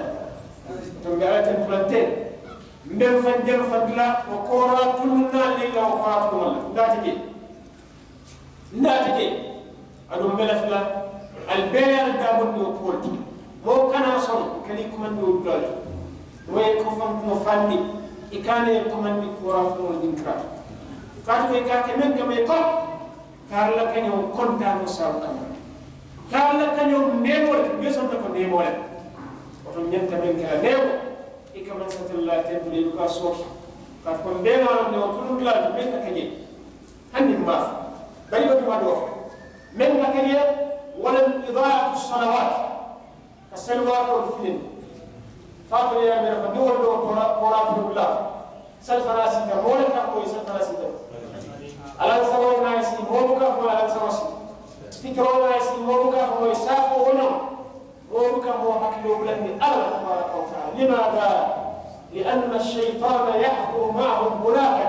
Tumbe ala ten tulante, mbe faŋ jelu faŋ dula, wo kooraa tuluŋ na le la, wo kooraa tuluŋ la, n daata je. N naata je, aduŋ mbe lafi la, ali bee ye ali daamundi wo kuwo le ti. Moo kana soŋ i ka niŋ i kumandi wo dulaa le ti. Moo ye ko faŋ kumo fandi, i kana ye kumandi kooraa faŋo le dinkira. Kaatu ko i ka a ke meŋ kamma i ko, kaari la kañoo kontaanoo saabu kamma, kaari la kañoo neemoo le ti, mbe sonta ko neemoo le. Woto ñanta meŋ ke la neemoo, i ka maŋ satalla tentu le i buka sooki. Kaatu ko mbe ŋa loŋ ne wo tuluŋ dulaa le ti meŋ ka ke je. Hani n maŋ a fo, bari i be kuma doo fo meŋ ka ke le, wo le mu idaa'atu salawaat, ka sali waatoolu filindi. Faatoo ye a mira ko niŋ wolu be wo kooraa, kooraa tuluŋ dulaa, sali fanaa siita, moo le ka a fo ye sali fanaa siita. Alansaroo naa ye sii, moo buka a fo ye alansaroo siita. Fitiroo naa ye sii, moo buka a fo ye saafoo wo ñoŋ. Moo buka moo hakiloo bulandi Alla la tabaaraka wa taala. Limaada? Li'anna ash-shaytaana yahkuru ma'ahum hunaaka.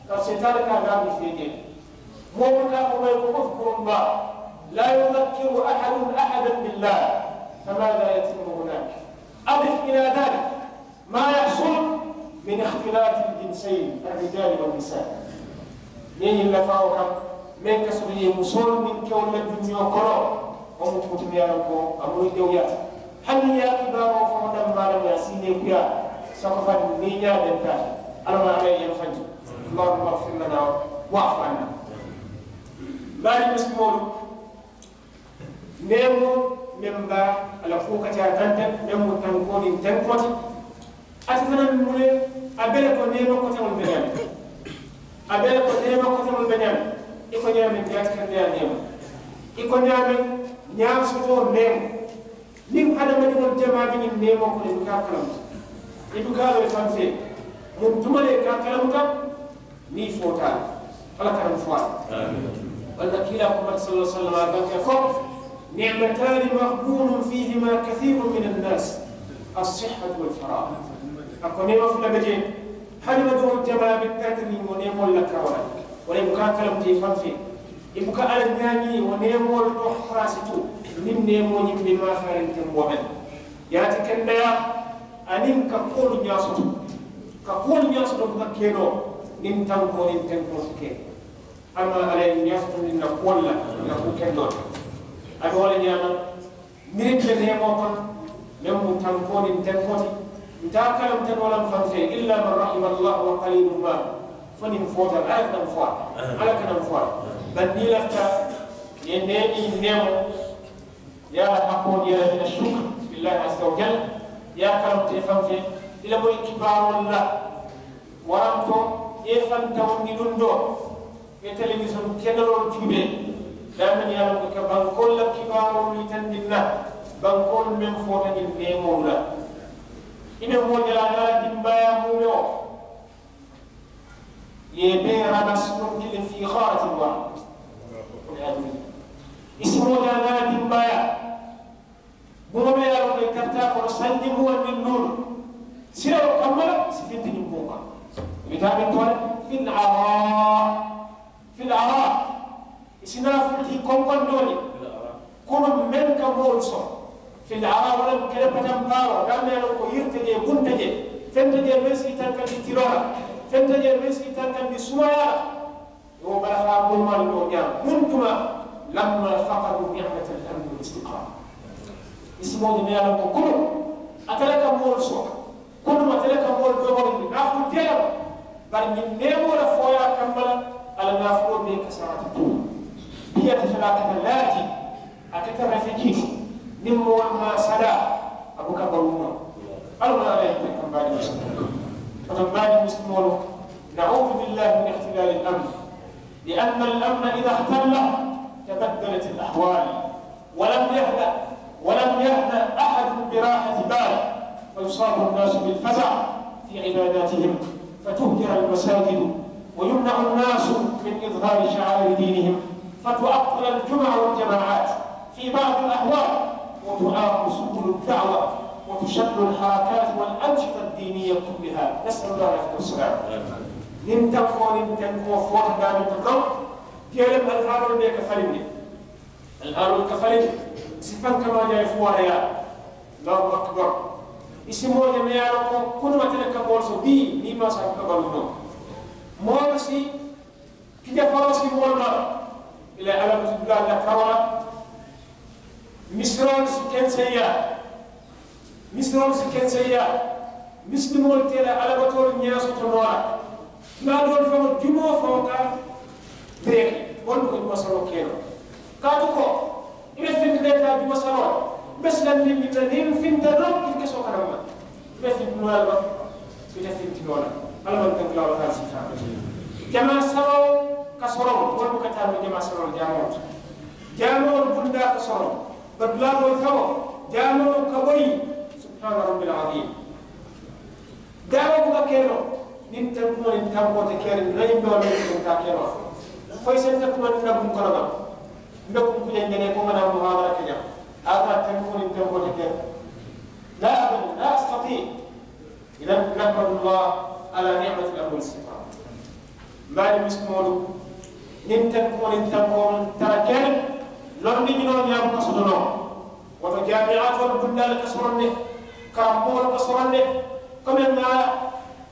Kaatu seyitaane ka a daamu fee jee. Moo buka a fo moo ye ko udhkuru Llaaha, laa yudhakkiru ahadun ahadan billaahi, famaadaa yatimmu hunaak? Adif ilaa daalik maa yahsulu min ikhtilaati al-jinsayni, ar-rijaali wan-nisaa. Niŋ i lafaa wo kaŋ, meŋ ka soto ye musoolu niŋ kewolu la duñoo kono, wo mu kuu ti meŋ ye a loŋ ko a mu jawuyaata. Hani niŋ i ye a kibaaroo faŋo dammaa le, a si i neekuyaa, sako faŋ niŋ i ñaa benta a ti. Alla maa, Alla ye i yaŋ fanji. Allaahumma ighfir lanaa wa'fu annaa. N baadiŋ misilimoolu, neemoo meŋ be a la kuwo ka ca kaŋ teŋ, meŋ mu tankoo niŋ tenkoo ti, ate fanaa mu le, a be le ko neemoo koteŋolu be ñaameŋ. A be le ko neemoo koteŋolu be ñaameŋ. I ko ñaameŋ jaatikandee neemoo, i ko ñaameŋ ñaasotoo neemoo. Niŋ hadamadiŋolu jamaa be ñiŋ neemoo kono, i buka a kalamuta, i buka a loŋ i faŋ fee, muŋ tuma le i ka a kalamuta? Niŋ i foota a la, Alla kana muŋ fo a la. Walla kiilaa ko, sallallaahu alayhi wa sallam, a ko: نعمتان مغبون فيهما كثير من الناس، الصحة والفراغ. A ko neema fula be jee, hadamadiŋolu jamaa be peretiriŋ wo neemoolu la karoo la. Wo le i buka a kalamuta i faŋ fee, i buka Alla ñaañi wo neemoolu to, haraasitu niŋ neemoo ñiŋ be maafaariŋ temboo meŋ. Yaati kendeyaa aniŋ ka kuwolu ñaa soto, ka kuwolu ñaa soto buka ke noo niŋ tankoo niŋ tenkoo si ke. Alla maa, Alla ye ñaa soto niŋ na kuwolu la, na kuu kendoo ti. A be wo le ñaama, niŋ i be neemoo kono, meŋ mu tankoo niŋ tenkoo ti, nte a kalamuta noo la m faŋ fee, illaa man rahima Allaahu wa qaliilun maa, fo niŋ foota, Alla kana m fo a la, Alla kana m fo a la. Bari niŋ i lafita, i ye nee, i ye neemoo, Yaa haqqu diyalati ashukr lillahi azza wa jalla. Yaa kalamuta i faŋ fee, i la moyi kibaaroolu la, waranto i ye i faŋ tawundi luŋ doo, i ye telewisoŋ kendoloolu juubee, daameŋ ye a loŋ ko i ka bankoolu la kibaaroolu yitandi n na, bankoolu meŋ foota ñiŋ neemoolu la. I be moo je la, a niŋ a la dimbaayaa muumewo, Ye bee ramas ñoŋ kiliŋ fi xaaratin waahida. I si moo ñaa ñaa dimbaaya. Buŋo meŋ ye a loŋ ko i tarata a kono sanji muwaŋ niŋ luulu, sirawo kamma le si finti ñiŋ buŋo kaŋ. I bi taa meŋ to le, fil araa, fil araa. I si naa fulti konkondooni kunu meŋ ka moolu soŋ. Fil araa wo le mu kele patampaaroo, daameŋ ye a loŋ ko yiri te jee, buŋ te jee, feŋ te jee meŋ si i tankandi tiloo la, feŋ te jee meŋ si i tankandi sumayaa la. Wo barakaa burumalu ñoo ñaama muntuma, lamma fakadu ni'matal amni wal istiqrar. I si moo je meŋ ye a loŋ ko kunu ate le ka moolu soŋ, kunu ate le ka moolu domondi naafulu teela. Bari ñiŋ neemoo la fooyaa kamma la, a la naafuloo bee kasaarata tuu. Biyata fanaakata laaji. A keta refejii ti niŋ moolu maŋ a sadaa, a buka baluu noo. Alla wo le ye a kamba di muslimoolu. Woto mbaadi muslimoolu, na'uudu billahi min ixtilaali al-amn. Li anna al-amna idaa ixtalla tabaddalat al-ahwaal. Wa lam yahda, wa lam yahda ahadun bi raahati baal. Fa yusaabu an-naasu bil faza' fi ibaadaatihim. Fa tuhjar al-masaajid. Wa yumna'u an-naasu min izhaari sha'aa'iri diinihim. Fa tu'attal al-jumu'a wal-jamaa'aat. في بعض الأحوال وتعاق سبل الدعوة وتشل الحركات والأنشطة الدينية كلها. نسأل الله العافية والسلامة. Niŋ tankoo niŋ tankoo foota daameŋ to doroŋ, jeelem alihaaloo bee ka falindi. Alihaaloo ka falindi. Sifaŋ kamaa jaye fo wara yaa. Allahu akbar. I si moo je meŋ ye a loŋ ko kunu ate le ka moolu so bii niŋ i maŋ sa ka baluu noo. Moolu si Kija faroo si moolu ma ila alabatu dulaa la kawo la. Misiroolu si kenseyaa, misiroolu si kenseyaa. Misilimoolu te la alabatoolu ñaasoto noo la. Dulaa doolu faŋo jumoo faŋo ka beeri wolu ko juma saloo kee la. Kaatu ko i be finti le taa juma saloo la. Be silandiŋ niŋ finta doroŋ i kesoo kana ma. Ite fintinoo la le ba? Ite fintinoo la. Alla maŋ tankilaa wo taa siifaa. Jamaa saloo ka soroŋ wolu buka taa noo jamaa saloo la jaamoo to. Jaamoo bundaa ka soroŋ. Bari dulaa doolu faŋo jaamoo ka boyi. Subhaana rabbil aziim. Daawo buka ke noo. Niŋ tankumoo niŋ tankoo te keriŋ na ñiŋ doo meŋ ka ke noo. Fo i senta kuma niŋ na buŋ kono ba? Mbe kunkujaŋ jene ko ŋa naa muhaadara ke jaŋ. A ka tankumoo niŋ tankoo te keriŋ. Laa abada laa astatii. Idan nahmadu llah ala ni'mati l-amni wal istiqrar. Mbaadi misilimoolu, niŋ tankumoo niŋ tankoo tara keriŋ, londi ñinoo ñaamu ka soto noo. Woto jaamiyaatoolu bundaalu ka soroŋ ne, karammoolu ka soroŋ ne. Komi ŋa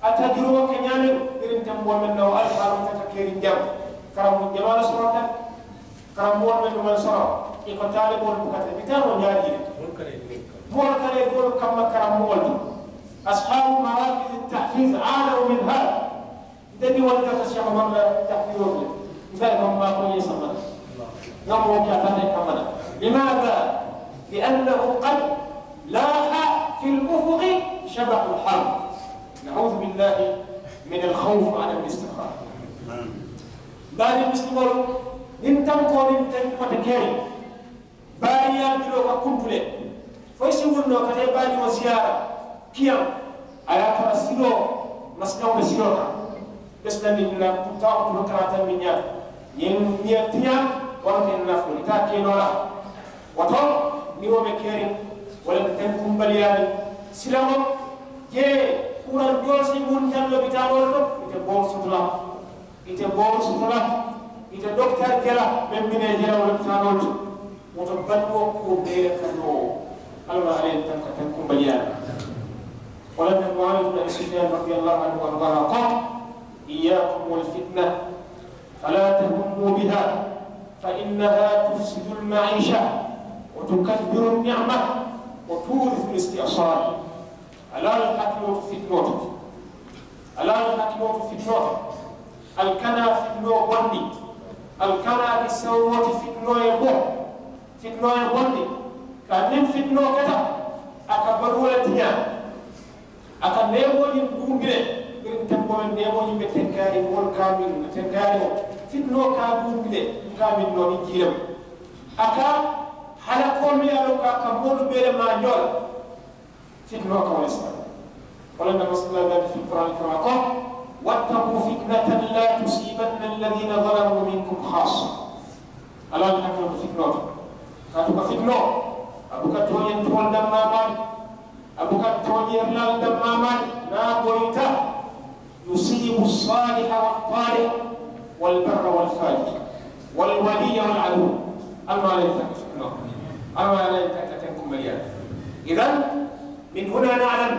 a tajurubo ke ñaameŋ, biriŋ tenboo meŋ na wo alifaalu tata keriŋ jaŋ, karammoolu jamaa le soronta. Karammoolu mennu maŋ soroŋ, i ko taaliboolu buka tara, i ka taa noo ñaadii le? Moolu ka lee doolu kamma karammoolu to. Ashaabu maraakizi tahfiiz aanaw min haada. Nte diŋolu ka seeku maŋ la tahfiizoo le. Nte le maŋ maa ko ye sama le. Ŋa moo ke a tara i kamma la. Limaada? Liannahu qad laaha fi l-ufuqi shabahu l-harb. Nauudu billahi min al-khawfi ala al-istiqraar. Bari misilimoolu, niŋ tankoo niŋ tankoo te keriŋ, baariyaa juloo ka kuntu le. Fo i si wuli noo ka taa i baadiŋo siyaara kiyaŋ. A ye a tara siloo, masilaŋo be siloo kaŋ. Be silandiŋ na, taawo tulu karaata miŋ ñaata, ñiŋ ñiŋ tiñaa, waraŋ ke nafoo i taa ke noo la. Woto niŋ wo be keriŋ, wo le be tenkumbaliyaa niŋ silaŋo. Jee, kurantoolu si muntaŋ lopitaanoolu to, ite boolu soto la. Ite boolu soto la, ite dokitaari ke la, meŋ bi nee je la wo lopitaanoolu to. Woto baluwo kuwo bee le ka noo. Alla ma alla ye tanka tankumbaliyaa la. Wo le be muawiya bnu abi sufiyaan radiyallahu anhu wa ardahu ko, iyyaakum wal fitna, falaa tahummu biha, fa innaha tufsidu al-ma'iisha, wa tukaddiru an-ni'ma, wa tuurisu al-isti'saal. Alaa ali hakkiloo to fitinoo to. Alaa ali hakkiloo to fitinoo to. Ali kana fitinoo bondi. Ali kana ke sawumoo ti fitinoo ye bo. Fitinoo ye bondi. Ka niŋ fitinoo keta, a ka baluwo le tiñaa. A ka neemoo ñiŋ duundi le. Biriŋ tenboo meŋ neemoo ñiŋ be tenkaariŋ moolu ka a miŋ tenkaariŋo, fitinoo ka a duundi le. Ka a miŋ noo niŋ jii le mu. A ka halakoo meŋ ye a loŋ ko a ka moolu bee le maa ñoo la. Fitinoo ka wo le saba. Wala na masala dati fi kuran kama ko, واتقوا فتنة لا تصيبن الذين ظلموا منكم خاصة. Alla la hakkiloo to fitinoo to. Kaatu ka fitinoo, a buka tooñantiwolu dammaa maa le, a buka tooñeerilaalu dammaa maa le. Niŋ a boyita, يصيب الصالح والطالح والبر والفاجر والولي والعدو. Alla ye a la ntaka fitinoo, Alla ye a la ntaka tenkumbaliyaa. إذن من هنا نعلم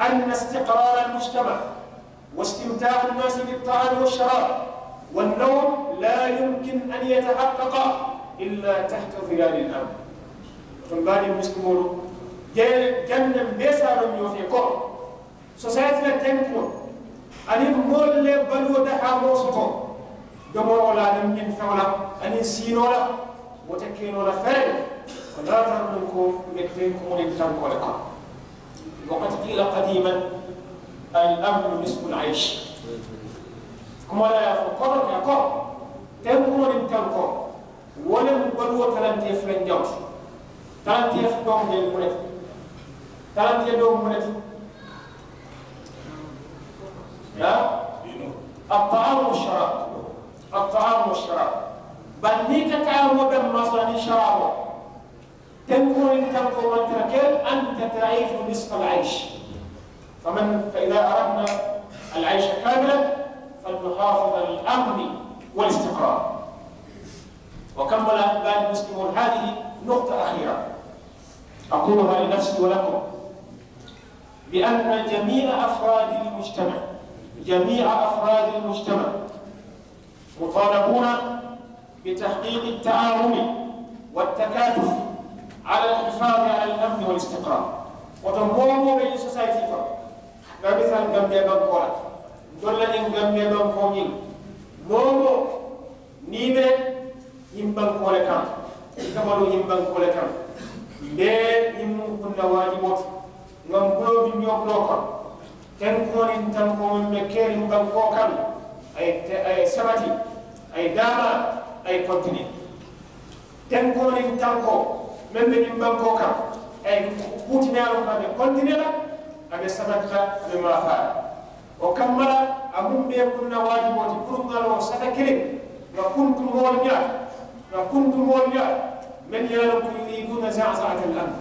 أن استقرار المجتمع واستمتاع الناس بالطعام والشراب والنوم لا يمكن أن يتحقق إلا تحت ظلال الأمن. Woto n baadiŋ misilimoolu, janniŋ bee si a loŋ ñoo fee ko sosayiti la tenkuŋo aniŋ moolu le baluwo dahaamoo soto domoroo la aniŋ ñiŋ feŋo la aniŋ siinoo la, wo te ke noo la fere. Wo naata nuŋ ko n be tenkuŋo niŋ tankoo le kono. وقد قيل قديما: الأمن نصف العيش. Kuma la ye a fo kono ka ko tenkuŋo niŋ tankoo, wo le mu baluwo talantee fulanjaŋo ti. Talantee fulanjaŋo mu ne ti? Talantee doo mu ne ti? الطعام والشراب. الطعام والشراب. Bari niŋ i ka taamoo dammaa soto aniŋ saraaboo, tenkuŋo niŋ tankoo maŋ tara ke, أنت تعيش نصف العيش. فمن، فإذا أردنا العيش كاملا فلنحافظ على الأمن والاستقرار. وكمل أحبائي المسلمون هذه نقطة أخيرة أقولها لنفسي ولكم، بأن جميع أفراد المجتمع، جميع أفراد المجتمع مطالبون بتحقيق التعاون والتكاتف على الحفاظ على الأمن والاستقرار. Woto moo woo moo be ñiŋ sosayiti kono, ŋa misali Gambiya bankoo la, ntolu la ñiŋ Gambiya bankoo ñiŋ, moo woo moo niŋ i be ñiŋ bankoo le kaŋ, i ka baluu ñiŋ bankoo le kaŋ, mbe ñiŋ mu kunna waajiboo ti. Ŋa m buloo duŋ ñoo buloo kono, tenkuŋo niŋ tankoo meŋ be keriŋ bankoo kaŋ, a ye, a ye sabati, a ye daamaa, a ye kontinee. Tenkuŋo niŋ tankoo meŋ be ñiŋ bankoo kaŋ, a ye kuu ti meŋ ye a loŋ ko a be kontinee la, a be sabati la, a be maafaa la. Wo kamma la, a muŋ bee kunna waajiboo ti puru ŋa loŋ sata kiliŋ, ŋa kuntu moolu ñaata, ŋa kuntu moolu ñaata, mennu ye a loŋ ko يريدون زعزعة الأمن.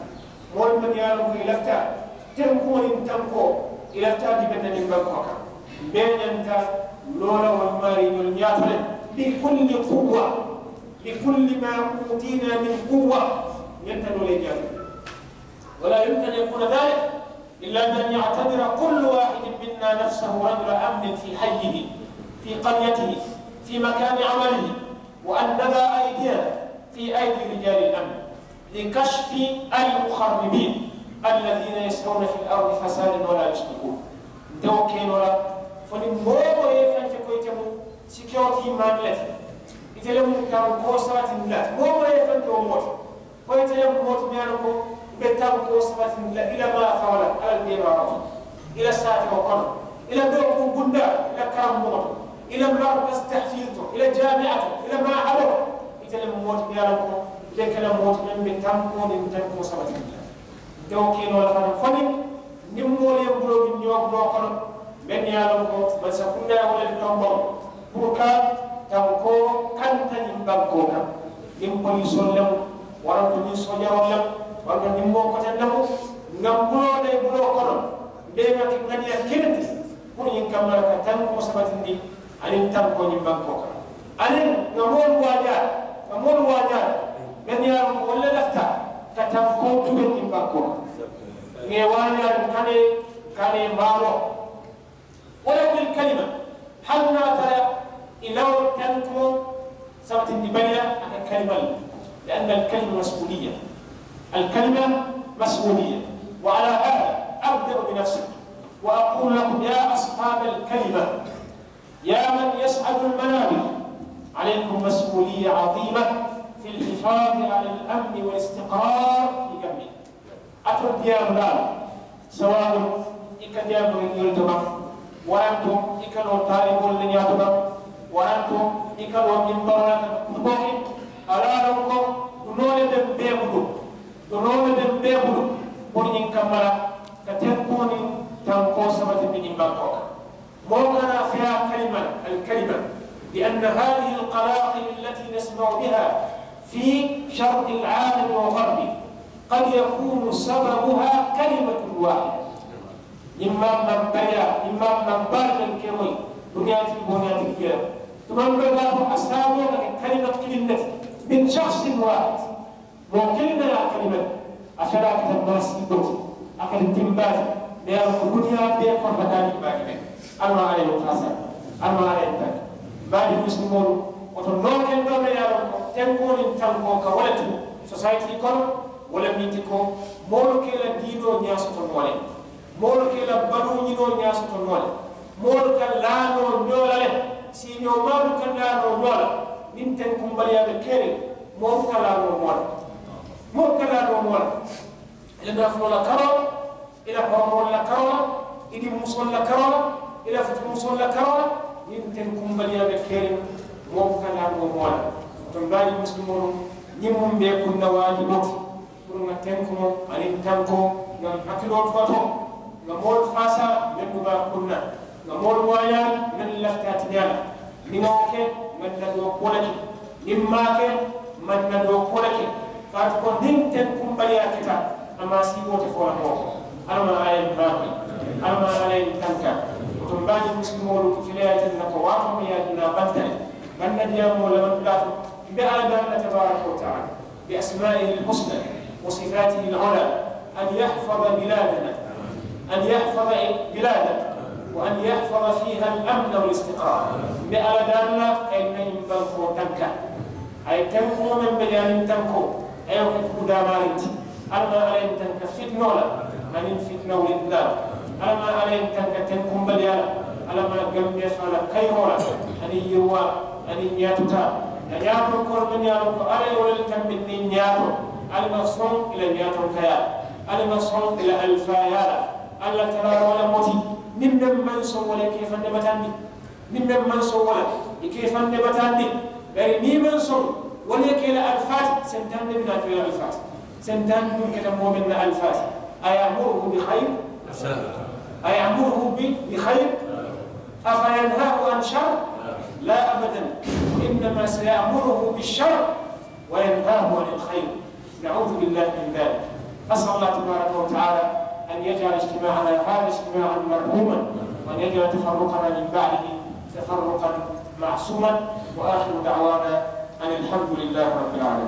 Moolu mennu ye a loŋ ko i lafita tenkuŋo niŋ tankoo, i lafita a dibeŋ na niŋ bankoo kaŋ, mbe ñanta loo la wolu maarii ñolu ñaato le, بكل قوة، بكل ما أوتينا من قوة، ñanta loo le ñaato le. ولا يمكن أن يكون ذلك إلا بأن يعتبر كل واحد منا نفسه رجل أمن في حيه، في قريته، في مكان عمله، وأن نضع أيدينا في أيدي رجال الأمن لكشف المخربين الذين يسعون في الأرض فسادا ولا يصلحون. Nte wo ke noo la fo niŋ moo wo moo ye i faŋ je ko ite mu security man le ti, ite le mu tankoo sabatindi la ti, moo wo moo ye i faŋ je wo moo ti. Ko ite le mu moo ti meŋ ye a loŋ ko i be tankoo sabatindi la i la maafaŋo la Alla la deemaaroŋo to, i la saatewo kono, i la dookuu bundaa, i la karambuŋo to, i la markasi tahfiidu to, i la jaamiya to, i la maahadoo to. Ite le mu moo ti meŋ ye a loŋ ko i be ke la moo ti meŋ be tankoo niŋ tankoo sabatindi la. Nte wo ke noo la fanaŋ fo niŋ niŋ moolu ye buloo duŋ ñoo buloo kono, mennu ye a loŋ ko mansa kundaa ye wo le tomboŋ puru ka tankoo kanta ñiŋ bankoo kaŋ, niŋ poliisoolu lemu, waranto niŋ soojaroolu lemu, waranto niŋ moo koteŋ lemu, ŋa m buloo la i buloo kono, mbe ŋa ŋaniya kiliŋ ti puru ñiŋ kamma la ka tankoo sabatindi aniŋ tankoo ñiŋ bankoo kaŋ. Aniŋ ŋa moolu waajaari, ŋa moolu waajaari mennu ye a loŋ ko wolu le lafita ka tankoo tubeŋ ñiŋ bankoo kaŋ. Ŋa i waajaari, n kana i, n kana i maaroo. Walaw bil kalima, hani niŋ a tara i la wo tankumoo sabatindi bali la a ka kalima le. Li anna al kalima masuuliya. Al kalima masuuliya. Wa ala hada abda'u bi nafsi, wa aqulu lakum ya ashaaba al kalima, ya man yas'adu al manabir, alaykum masuuliya aziima fi al hifaadi ala al amni wal istiqraar fi Gambiya. Ate diyaamu daalu, sawaabu i ka diyaamu la ñoolu to baŋ, waranto i ka loo taaliboolu la ñaato baŋ, waranto i ka loo mimbaroo la ka kutuboo ke. Ali a loŋ ko dunoo le be m bee bulu, dunoo le be m bee bulu puru ñiŋ kamma la ka tenkuŋo niŋ tankoo sabatindi ñiŋ bankoo kaŋ. Ko kana fiya kalima, al kalima, bi anna hadihi al qalaqil allati nasma'u biha fi sharqi al alami wa gharbi, qad yakunu sababuha kalimatun wahida. Imam man bariya, imam man bari man kemoy, duniya ti boniya ti kira. Tuman be ba ko asabu ka kalima kilinati min shakhsin wahid. Moo kiliŋ ne ye a kalimat, a fela a keta maasiiboo ti, a keta dimbaa ti. Mee a ko duniyaa bee kono ka taa dimbaa ti. Almaa ala ye wo faasa. Almaa ala ye tanka. Mbaadi musulimoolu, woto noo kendoo me ye a loŋ ko tenkoo niŋ tankoo ka wo le tu sosayiti kono. Wo le miŋ ti ko moolu ka i la diinoo ñaa soto noo le. Moolu ka i la baluuñinoo ñaa soto noo le. Moolu ka laa noo ñoo la le. Siiñoo maalu ka laa noo ñoo la. Niŋ tenkumbaliyaa be keriŋ, moolu ka laa noo moo la. Moolu ka laa noo moo la. I la nafuloo la karoo la, i la horomoolu la karoo la, i dimmusoolu la karoo la, i la futumusoolu la karoo la. Niŋ tenkumbaliyaa be keriŋ, moolu ka laa noo moo la. Woto mbaadi musulimoolu, ñiŋ muŋ be kunna waajiboo ti, puru ŋa tenkumoo aniŋ tankoo ŋa hakiloo tuwatoo, ŋa moolu faasaa mennu be a kunna, ŋa moolu waañaari mennu lafita a tiñaa la. Niŋ ŋa wo ke, ŋa na doo kuwo le ke. Niŋ maŋ a ke, maŋ na doo kuwo le ke. Kaatu ko niŋ tenkumbaliyaa keta, a maasiiboo te fo la moo ko. Alla maŋ a ye n maakoyi. Alla maŋ a ye n tanka. Woto mbaadi musulimoolu, kileyaa tinna ko waatoo meŋ ye a duna banta le. Bannadiyaamoo lamantu laatu. Mbe alla daani la tabaaraka wa taala, bi asmaa'ihi alhusna wa sifaatihi al'ulaa, an yahfada bilaadana, an yahfada bilaadana, wa an yahfada fiiha al'amna wal istiqraar. Mbe alla daani la ka i na ñiŋ bankoo tanka. A ye tenkumoo meŋ be ñaaniŋ tankoo, a ye wo ke tuudaamaariŋ ti. Alla maŋ alla ye n tanka fitinoo la aniŋ fitina wulindilaa la. Alla maŋ alla ye n tanka tenkumbaliyaa la. Alla maŋ gambeesaa la kayiroo la aniŋ yiriwaa aniŋ ñaatutaa. Ŋa ñaatonkoolu mennu ye a loŋ ko alla ye wo le tambindi ñaato, alla maŋ soŋ i la ñaatonkayaa la. Alla maŋ soŋ i la alifaayaa la. Alla tara wo le moti niŋ meŋ maŋ soŋ wo le ke fande batandi. Niŋ meŋ maŋ soŋ wo la, i ka i faŋ ne bataandi. Bari niŋ i maŋ soŋ, wo le ye ke i la alifaati. Sentaani le bi naa ke i la alifaati. Sentaani duŋ keta moo meŋ na alifaati. Ayamuruhu bi xayir? Ayamuruhu bi xayir? Afa yanhahu an shar? La abadan. Wa innama sayamuruhu bi shar. Wa yanhahu anil xayr. Naudu billahi min dalik. Asal allah tabaraka wa taala an yajala ijtimaana hada ijtimaanan marhuman, wa an yajala tafarruqana min badihi tafarruqan masuman. Wa ahiru dawana an alhamdulillahi rabbil alamin.